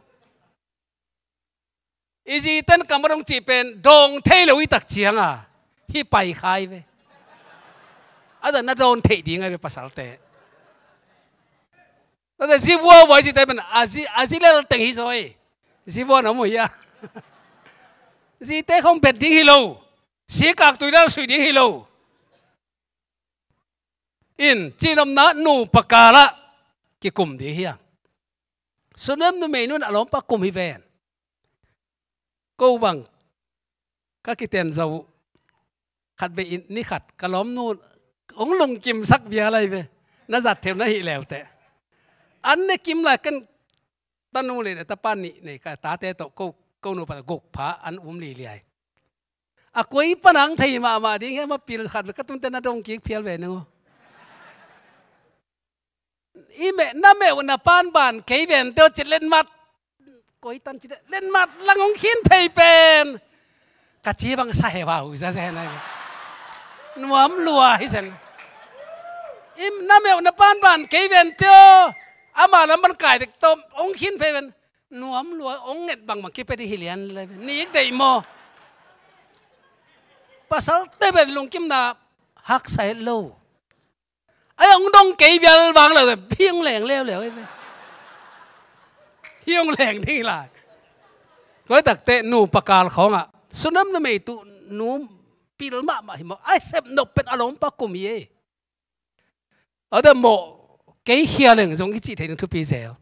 I ziten kam a dong cih pen dawng thei lo i tak cianga hih pai khai ve. A dan na dawn theih ding ahi ve pasalte. Tate zi vuavua i zite pen a zi, a zi lel teng hi zaw hi. Zi vua na mu hi a. Zite khong bet ding hi lo. Sik aktui lel sui ding hi lo. In cihnopna nupa kalah kikum ding hi a. Sunem numei nun a lawmpa kum hi ven. Ko bang ka kiten zo uh khat vei in ni khat ka lawmnu hong lungkimsak bia lai ve. Na zat them na hih lelte an ne kim lai ken tanu le tapa nih nei ka tate tawh ko, ko nupa guk pha an um liliai. A koi panang thei mahmah ding hiam a pil khat ve ka tunte na dong kik phial ve nung. I meh na meh uh na pan ban kei ven teo cit letmat. Koi tan cit letmat lang hong khin phei pen ka ci bang sa he vau za se nai. Nuam lua hi sen. I na meh uh na pan ban kei ven teo ama lam ban kai dek tawm hong khin phei pen nuam lua hong nget bangbang kipia ding hi lian le nik deih maw? Pasalte pen lungkimna haksa het lo. Ai hong dong kei vial vang lo hi hong leng leuleu hi ve. Hi hong leng ding hi lai. Koi takte nupa kal khawngah sunam numei tuh nu pil mahmah hi maw? Ai sep nop pen a lawmpa kum hi ei. A da mawh kei khia leng zong i cih thei ding thupi zel.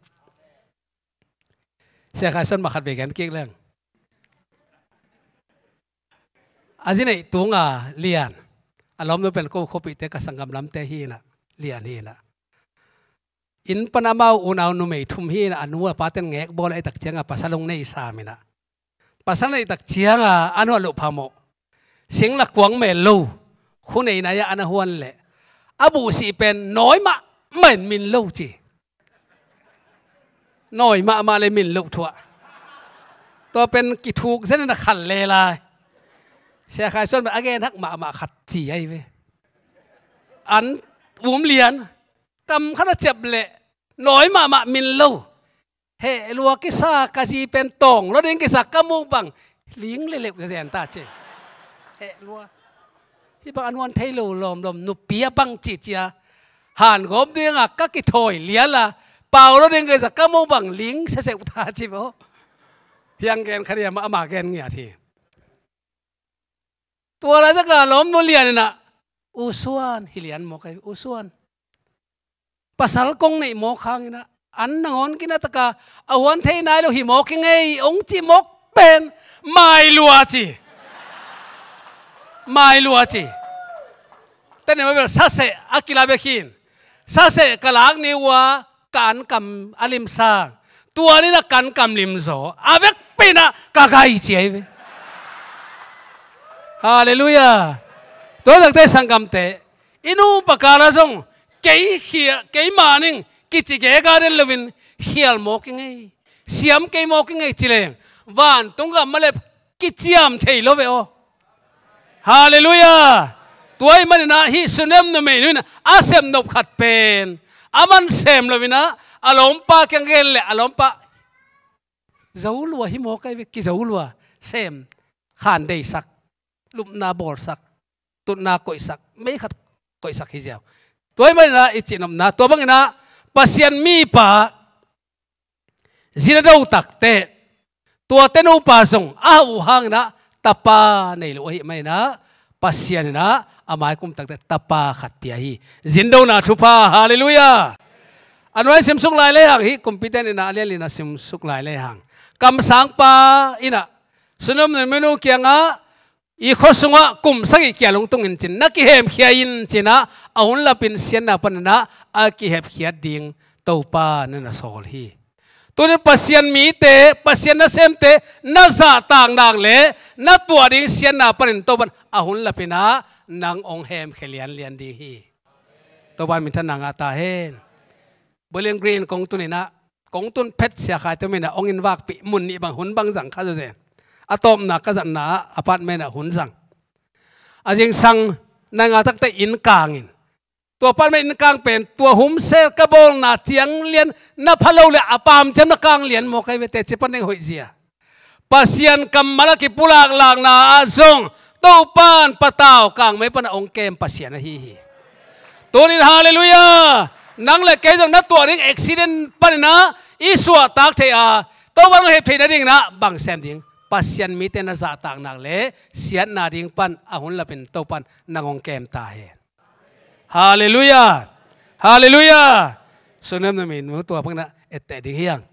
Sia Khai Suan mah khat vei gen kik leng. A zi neih tunga lian a lawmnu pen ko khuapihte ka sanggam lamte hi inah lian hi inah. Inn pan amau unau numei thum hi inah a nu a paten ngek bawl a i tak cianga pasal hong nei sam inah. Pasal neih tak cianga a nuah loh phamawh singla kuang mel lo khu nei nai-ah a na huan leh a buhsih pen nawi mahmah in min lo ci. Nawi mahmah le min loh thuah. Tua pen kithuk zen in a khal le lai. Sia Khai Suan pen a gen hak mahmah khat ci ahi ve. An um lian kam khat a ciap leh nawi mahmah min lo. Heh lua kisa ka zi pen tawng lo ding kisa ka muh bang ling le leuh zen ta ci. Heh lua. Hih bang a nuan thei lo lawmlawm nupi a bang ci cia. Han gawp dinga ka kithawi liala pau lo ding kisa ka muh bang ling seseuh ta ci bo. Hiang gen kha dia mah ama gen ngiat hi. Tua laitaka lawmnu lian inah U Suan hi lian maw kai U Suan. Pasal kong neih mawk hang inah an nangawn kinataka a huan thei nai lo hi mawk hi ngei hong cih mawk pen mai lua ci. Mai lua ci. Tene ma bel saseh a kila bek hin saseh ka lak ni ua ka an kam a limsang. Tua ni na kan kam limzaw a vek pina ka gai ci ahi ve. Halleluiah. Tua takte sanggamte i nupa kala zong kei khia, kei maning kici gega den loin khial mawk i ngei, siam kei mawk i ngei ci leng vantung gam mah le kiciam thei lo ve aw. Halleluiah. Tua ahih manin ah hih Sunem numei nu in ah a sem nop khat pen a man sem loin ah a lawmpa kiang gen leh a lawmpa zo lua hi mawk ai ve, kizo lua, sem khan deisak, lupna bawlsak, tutna koihsak, mei khat koihsak hi ziau. Tua ahih manin ah i cihnopna tua bangin ah Pasian mipa zin a do takteh tuate nupa zong a hauh uh hangin ah tapa nei lo ahih manin ah Pasian in ah a mai kum takteh tapa khat pia hi. Zindona thupha, halleluiah. A nuai simsuk lai lehang hih kumpite in ah a lianlian a simsuk lai lehang kamsangpa in ah Sunem numei nu kiangah i khua sungah kum sagih kia lungtung in cin na kihemkhia in cin ah a hun lapin siatna panin ah a kihepkhiat ding Topa na na sawl hi. Tunin Pasian mite, Pasian nasemte na zahtak nak le na tuah ding siatna panin Topan a hun lapin ah nang hong hemkhia lianlian ding hi. Topa minthanna ngah ta hen. Bowling Green kong tun in ah, kong tun phet Sia Khai Tum in ah hong invakpih mun nih bang hun bang zang kha zawzen. A tawpna ka zatna ah apartment ah hun zang. A zingsang nai nga takteh inn kangin tua apartment inn kang pen tua humsel ka bawlna ciang lian na pha lo le a pam ciam na kang lian mawk ai ve, teci pan ding hoih zia. Pasian kammal a kipulaklakna ah zong Topan patau kangmei pan a hong kem Pasian ahi hi. Tunin halleluiah. Nang le kei zong na tuah ding accident panin ah i suahtak thei a Topan hong heptheih nadingin ah bang sem ding? Pasian mite na zahtak nak le siatna ding pan a hun lapin Topan nang hong kem ta hen. Halleluiah. Halleluiah. Sunem numei nu tua bangin ah etteh ding hi hang.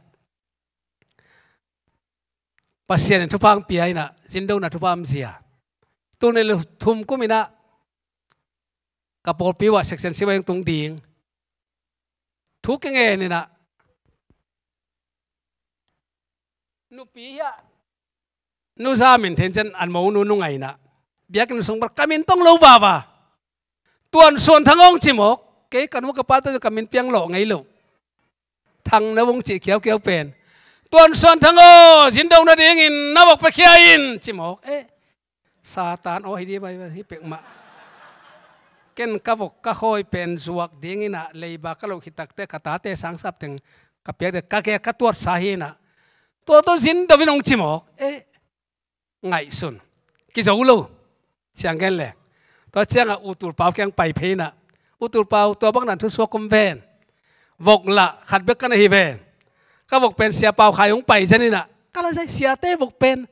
Pasian in thupha hong pia in ah zindona thupha om zia. Tul nih le thum kum in ah ka pawlpi uh ah section sip ah hong tung ding. Thu kingen in ah nupi hiah nu Za Min Thein ciang an mo nu nungai in ah biakinn sung pan ka min tong lo vava. Tuan Suan Thang Aung ci mawk. Kei ka nu ka pate ka min piang lawh ngei lo. Thang na vung cih khiaukiau pen Tuan Suan Thang aw, zindona dingin na vok pia khia in ci mawk. Eh, Satan aw hi dih bai hi pek mah. Ken ka vok ka khawi pen zuak dingin ah leiba ka loh khit takteh ka tate sangsap teng ka piak ding ka gel ka tuatsa hi in ah tua tawh zindo in hong ci mawk. Eh, ngaihsun. Kizo lo. Siang gen le. Tua ciangah U Tul Pau kiang pai phei in ah, U Tul Pau, tua bang dan thusuak om ven. Vok lah khat bek ka na hi ven. Ka vok pen Sia Pau Khai hong pai zen in ah ka la zai, siate vok pen.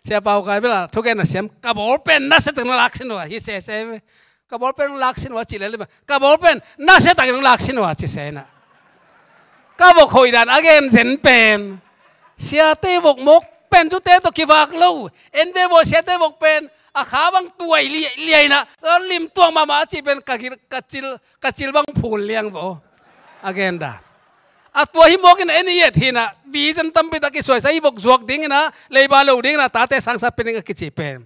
Sia Pau Khai bel ah thugen a siam, ka bawl pen nasia tak na lak sin uh a hi sese ve. Ka bawl pen hong lak sin uh a ci lel ve. Ka bawl pen nasia tak in hong lak sin uh a ci se in ah. Ka vok hoih dan a gen zen pen siate vok mawk pen zute tawh kivak lo. En ve vaw, siate vok pen a kha bang tuai liaina lim tuak mahmah a cih pen ka gil, ka cil, ka cil bang phul liang vaw. A gen dan a tua hi mawk in en i et hi in ah, vision tampi tak kisuaisa hi, vok zuak ding in ah, leiba lo ding in ah, tate sangsa pen ding a kici pen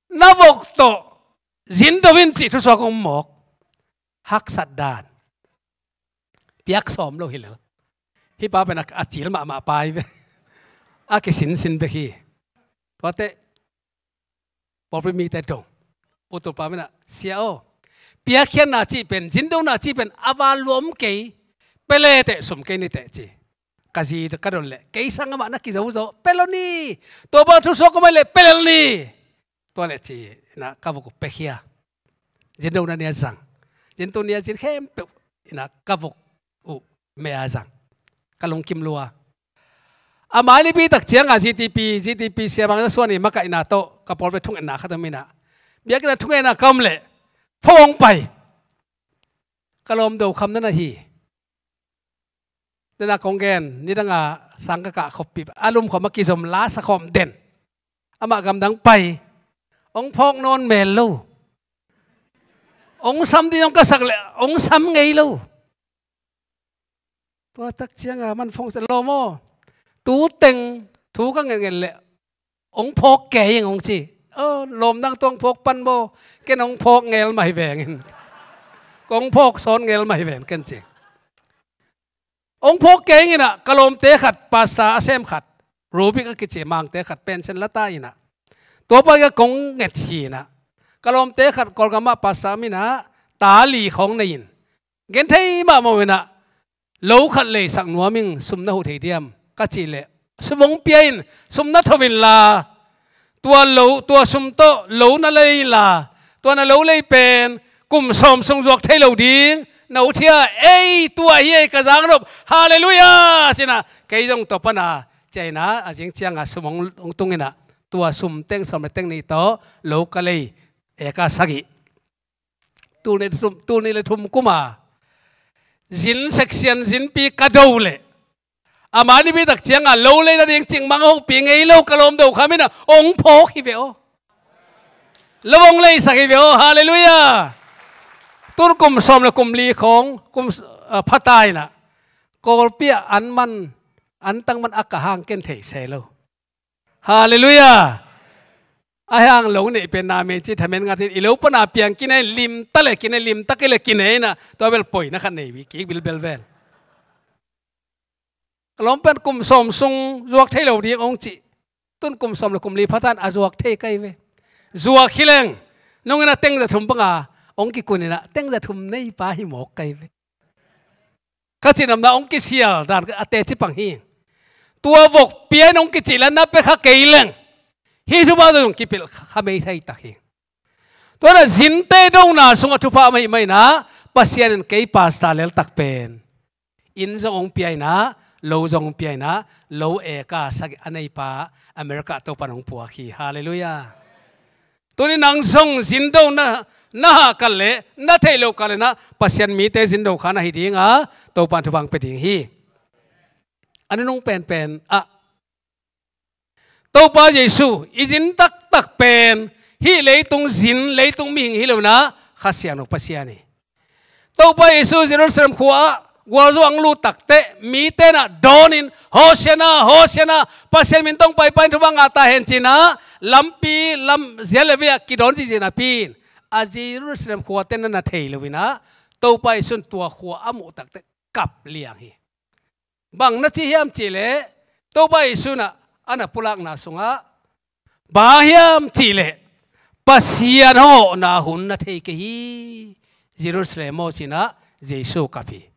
na vok tawh zindo in cih thusuak om mawk. Haksat dan. Piak sawm lo hi lel. Hih pa pen a, a cil mahmah pa hi ve. A kisinsin bek hi. Tuate pawlpi mite dong, U Tul Pau in ah, Sia aw, piakkhiatna cih pen, zindona cih pen a val lua om kei. Pia le teh, sum kei ni teh ci. Ka zi ka don leh kei sang amah na kizo zaw, pia lo ni. Tua bang thusuak om ai leh pia lel ni. Tua leh ci in ah ka vok uh piakhia. Zindona ni a zang. Zintu ni a zin khempeuh in ah ka vok uh meh a zang. Ka lungkim lua. A mai lipi tak ciangah Z T P, Z T P siamang Za Suan i makaihna tawh ka pawlpi thungetna khat om in ah, biakinn ah thungetna ka om leh pho hong pai. Ka lawm do kham na na hi. Dena kong gen, nidanga sang ka kah khop pih a, lumkhawm a kizom la sa khawm den. Amah gamdang pai. Hong phawk nawn mel lo. Hong sam ding hong ka sak leh hong sam ngei lo. Tua tak cianga man phone sa, lawm aw, tu teng thu ka ngetnget leh hong phawk kei ing hong ci. Aw, lawm nang tua hong phawk pan maw, ken hong phawk ngel mah hi veng in. Kong phawk sawn ngel mah hi ven ken ci. Hong phawk kei ing inah ka lawmte khat, pastor a sem khat, Rubik a kici mangte khat pension la ta inah, tua pa kong nget hi inah, ka lawmte khat Kawlgam ah pastor om inah, ta li khawng nei in, gen thei mahmah uh inah, lo khat leisak nuam ing, sum na huh thei diam ka cih leh, sum hong pia in, sum na tho inla, tua lo, tua sum tawh lo na lei inla, tua na lo lei pen kum sawm sung zuak thei lo ding na uh thia, ei, tua hi ei ka zangnop, halleluiah, ci inah kei zong tua pana ciah inah, a zing ciangah sum hong, hong tung inah, tua sum teng sawm le teng nih tawh lo ka lei, eka sagih. Tul nih le thum, tul nih le thum kum a zin section zinpi ka do leh, a mah nipi tak ciangah lo lei nading cikmah hong hopih ngei lo ka lawm Do Kham inah hong phawk hi ve aw. Lo hong leisak hi ve aw, halleluiah. Tun kum sawm le kum li khawng, kum, ah, pha ta inah, Kawlpi ah an man, an tang man a ka hang ken thei se lo. Halleluiah. A hang lo neih pen na mei ci thamen ngat in, i lo pana piang kinei, limta le kinei, limta kei le kinei inah, tua bel poina khat nei uh hi kik bilbel vel. Ka lawm pen kum sawm sung zuak thei lo ding hong cih. Tun kum sawm le kum li pha ta in a zuak thei kei ve. Zuak hi leng, nung inah teng za thum banga hong kikun inah, teng za thum nei pa hi mawk kei ve. Ka cihnopna hong kisial dan a teci pang hi. Tua vok pia in hong kicih la na pia kha kei leng, hih thupha zong kipelh kha mei thei tak hi. Tua inah zinte dona sungah thupha mah ahih manin ah, Pasian in kei pastor leltak pen inn zong hong pia inah, lo zong hong pia inah, lo eka sagih a neipa America Topan hong puak hi. Halleluiah. Tuni nang zong zin do na, na hah kal leh, na theih loh kal leh inah, Pasian mite zin do kha na hi ding a, Topan thupha hong pia ding hi. A nunung penpen ah, Topa Jesu i zin taktak pen hih leitung zin, leitung mihing hi lo inah, Kha Siangtho Pasian hi. Topa Jesu Jerusalem khua ah gualzo hong lut takteh, mite inah dawnin, Hosianna, Hosianna, Pasian min tawh hong paipa in thupha ngah ta hen ci inah, lampi lam zial le vei ah kidawn ziahziah napi in, a Jerusalem khuate na na thei lo inah, Topa Jesu in tua khua a muh takteh kap liang hi. Bang na ci hiam cih leh, Topa Jesu inah a na pulakna sungah, bang hiam cih leh, Pasian hong hawhna hun na thei kei hi, Jerusalem aw ci inah Jesu kap hi.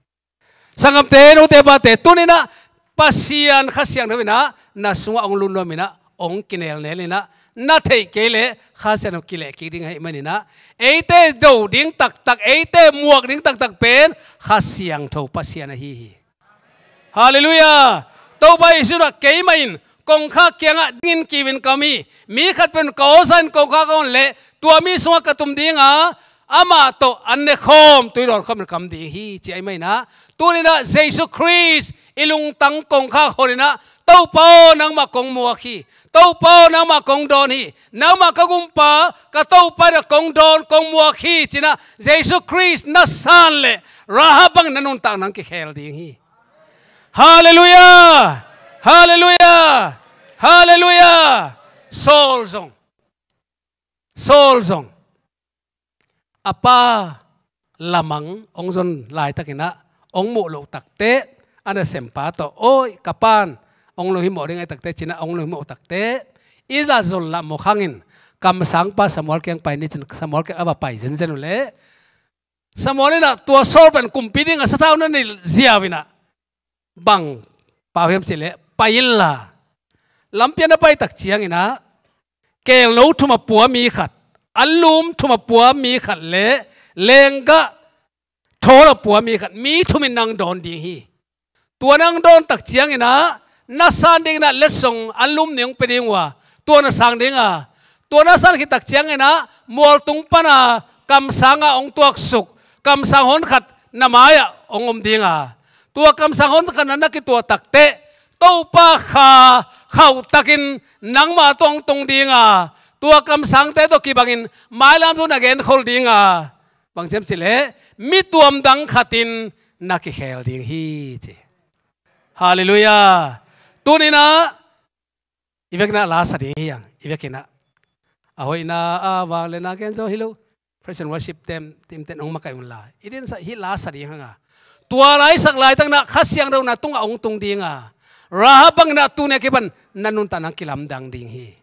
Sanggamte, nute pate, tuni inah Pasian Kha Siangtho inah na sungah hong lut nuam inah, hong kinelnel inah, na theih kei leh Kha Siangtho kileh kik ding ahih manin ah, eite do ding taktak, eite muak ding taktak pen Kha Siangtho Pasian ahi hi. Halleluiah. Topa Jesu inah keimah in kongkhak kiangah dingin kiu in ka om hi. Mi khat pen ka awsa in kongkhak a hon leh, tua mi sungah ka tum ding a, amah tawh an ne khawm, tui dawn khawm in ka om ding hi, ci ahih manin ah, tuni inah Jesu Khrist i lungtang kongkhak hon inah, Topa aw, nangmah kong muak hi. Topa aw, nangmah kong dawn hi. Nangmah ka Gumpa, ka Topa inah kong dawn, kong muak hi ci inah, Jesu Khrist na san leh, Rahab bangin na nuntakna hong kikhel ding hi. Halleluiah! Halleluiah! Halleluiah! Saul zong, Saul zong a pa lamang hong zon laitakin ah, hong muh loh takteh, a nasempa tawh, "Oi, ka pa'n hong lunghimawh ding ahi takteh," ci inah hong lunghimawh takteh, i la zon lah mawk hangin, kamsangpa Samuel kiang pai ni ci-in Samuel kiang a va pai zenzen uh leh, Samuel inah tua Saul pen kumpi dingah sathau na neih ziau inah, bang pau hiam cih leh, pai inla. Lampi ah na pai tak ciangin ah, keelno thum a pua mi khat, anlum thum a pua mi khat le lenggah thawl a pua mi khat, mi thum in nang dawn ding hi. Tua nang dawn tak ciangin ah, na san dingin ah letsong anlum nih hong pia ding uh a, tua na sang ding a, tua na san khit tak ciangin ah mualtung pan a kamsang ah hong tuaksuk, kamsang hon khat na mai-ah hong om ding a, tua kamsang hon khat na na kituah takteh, Topa Kha khauhtakin nangmah tawh hong tung ding a, tua kamsangte tawh kibangin mailam thu na genkhol ding a, bang hiam cih leh, mi tuamdang khat in na kikhel ding hi, ci. Halleluiah. Tuni-in ah i vekin ah la sa ding hi hang, i vekin ah. A hoihna, a vang le na gen zaw hi lo. Praise and worship team, team ten hong makaih un la, i din sa, hih la sa ding hang a, tua laitak laitak na Kha Siangtho na tungah hong tung ding a, Rahab bangin ah tuni a kipan na nuntakna kilamdang ding hi.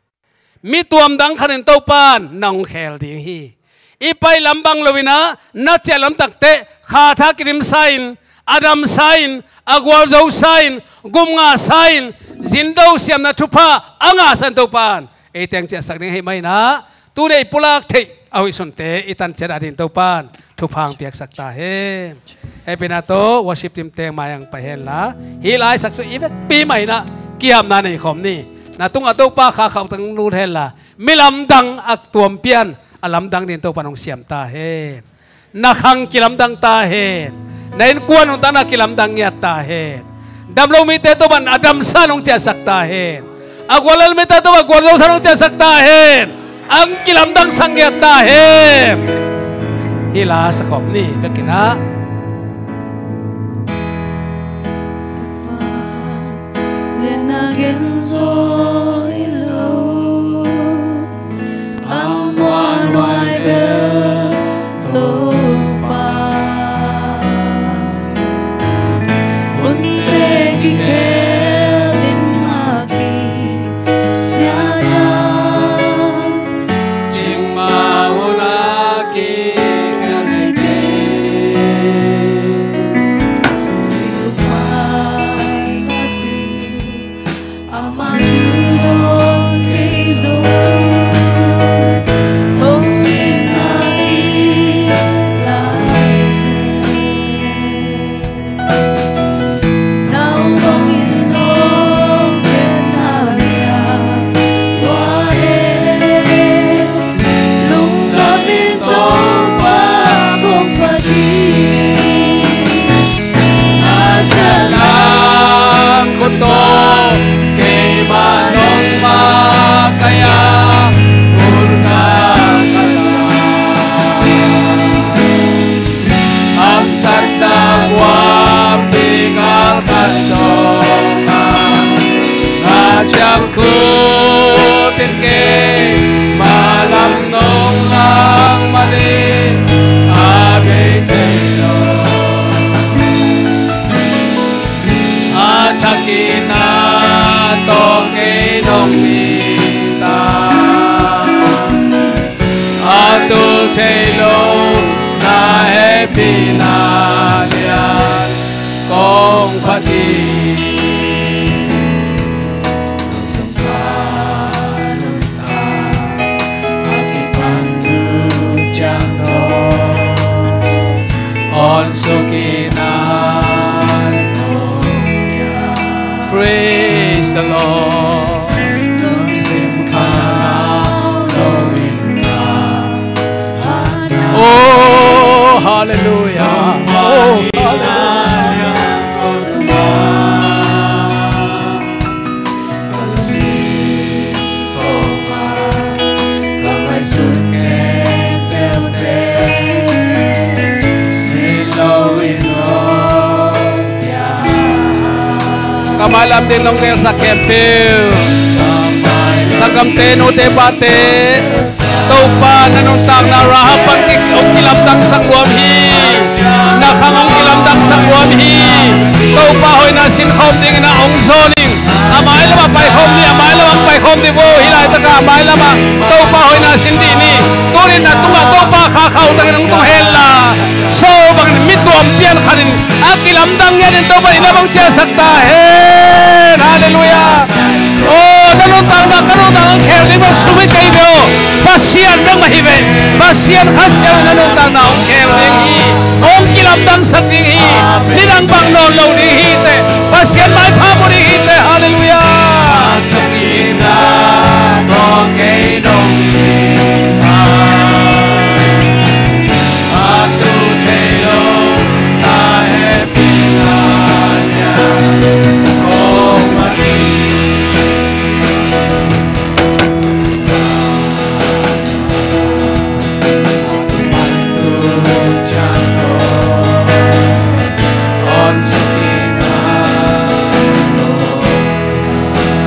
Mi tuamdang khat in Topa in na hong khel ding hi. I pai lam bang lo-in ah na ciah lamtak teh kha tha kidim sa-in, a dam sa-in, a gualzo sa-in, gum ngah sa-in, zindo siamna thupha a ngah sa-in Topa in ei teng ciahsak ding hi mah in ah, tuni i pulak theih a hoihsunte i tan ciat a ding Topa in thupha hong piaksak ta hen. Hehpihna tawh worship team teng mai-ah hong pai hen la, hih laitak sung i vekpi mah in ah kihapna nei khawm ni. Na tungah Topa kha khauhtak lut hen la, mi lamdang a tuam pian a lamdang ding Topa in hong siam ta hen. Na khang kilamdang ta hen. Na innkuan nuntakna kilamdang ngiat ta hen. Damlo mite Topa in a damsa in hong ciahsak ta hen. A guallel mite Topa in gualzosa in hong ciahsak ta hen. Hong kilamdangsak ngiat ta hen. Hih la sa khawm ni, vekin ah. Praise the Lord. Oh, hallelujah. Oh, hallelujah. Ka mailam ding nong gelsak khempeuh, sanggamte, nute pate, Topa na nuntakna Rahab bang hong kilamdangsak nuam hi. Na khang hong kilamdangsak nuam hi. Topa hoihna sin khawm dingin ah hong zawn ing. A mailamah paikhawm ni, a mailamah paikhawm ni vo. Hih laitakah a mailamah Topa hoihna sin dih ni. Tunin na tungah Topa kha khauhtakin hong tung hen la, Saul bangin mi tuam pian khatin a kilamdang ngiatin Topa in a bang ciahsak ta hen. Halleluiah. Oh, na nuntakna ka nuntakna hong khel ding bang sum hi kei ve aw. Pasian bek mah hi ve. Pasian Kha Siangtho na nuntakna hong khel ding hi. Hong kilamdangsak ding hi. Nidang bang nawn lo ding hi teh, Pasian maipha pua ding hi teh. Halleluiah.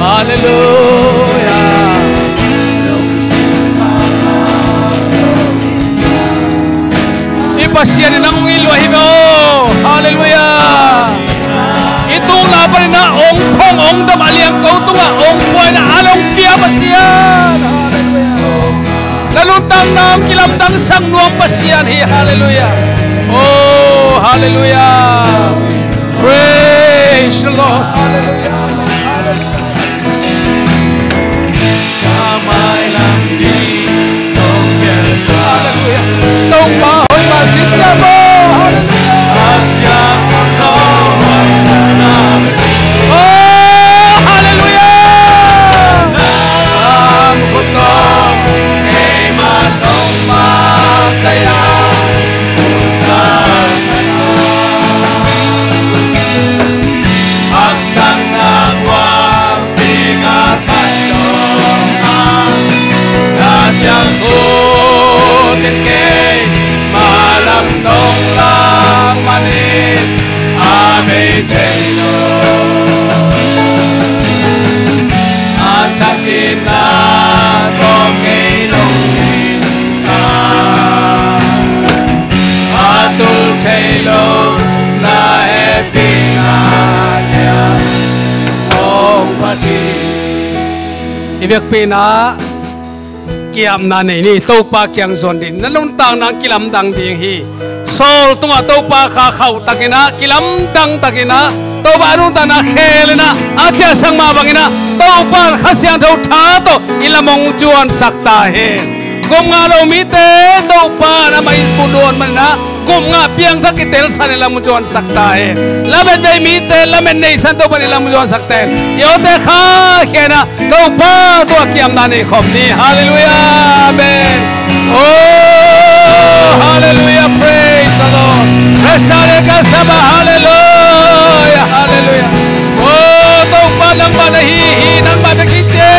Halleluiah. Pasian in nang hong it lua hi ve aw. Halleluiah. I tukna panin ah hong phong hong dam a liangko tungah hong pua in ah a hong pia Pasian. Halleluiah. Na nuntakna hong kilamdangsak nuam Pasian hi. Halleluiah. Oh, halleluiah. Praise the Lord. Halleluiah. Halleluiah. Ka mailam hi nong piangsak. Halleluiah. Topa hoih mah sin ciam aw. Halleluiah. A siang nong hoih na. Oh, halleluiah. Nang khut tawh keimah nong makaih a. Haksatna guahpi ka khat dong a, na ciang ut in kei mailam nong lak manin a bei thei lo. A thak in na tawh kei nong it a, a tul thei lo na hehpihna lian hong phat hi. I biakpiakna, ki-apna nei ni. Topa kiang zuan ding, na nuntakna kilamdang ding hi. Saul tungah Topa kha khauh takin ah, kilamdang takin ah, Topa a nuntakna khel in ah, a ciahsak mah bangin ah, Topa Kha Siangtho tha tawh i lam hong zuansak ta hen. Gupngah lo mite Topa in amah i pulak manin ah, gupngah piangthak i telsan i lam hong zuansak ta hen. Lamet bei mite lamet neisan Topa in i lam hong zuansak ta hen. I awte kha khen ah, Topa tungah ki-apna nei khawm ni. Halleluiah. Amen. Oh, halleluiah. Praise the Lord. Praise the Lord. Halleluiah. Halleluiah. Oh, Topa nangmah na hi hi, nangmah na hi ci.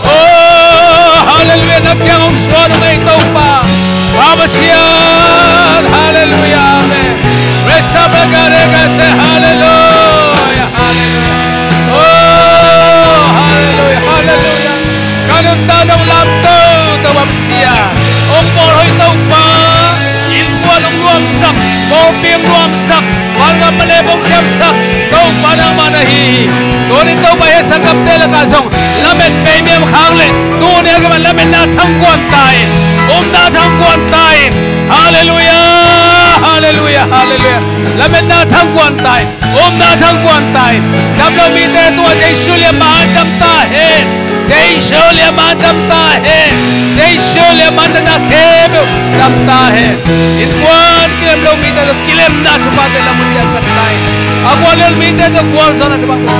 Oh, halleluiah. Na kiang hong suan hong ei Topa. Pa Pasian. Halleluiah. Amen. Praise the Lord. Halleluiah. Halleluiah. Oh, halleluiah, halleluiah. Ka nuntakna hong lamto Topa Pasian, hong bawlhoih Topa, innkuan hong nuamsak, pawlpi hong nuamsak, vanglian malep hong ciamsak Topa nangmah na hi hi. Tuni Topa, hih sanggamte lakah zong lamet bei mihing khang leh, tuni a kipan lametna thangkuan ta in, upna thangkuan ta in. Halleluiah, halleluiah, halleluiah. Lametna thangkuan ta in. Upna thangkuan ta in. Dam lo mite tungah Jesu lian mah in dam ta hen. Jesu lian mah in dam ta hen. Jesu lian mah in na khempeuh dam ta hen. Innkuan kilem lo mite tungah kilemna thuphate lam hong ciahsak ta in. A guallel mite tungah gualzawhna thuphate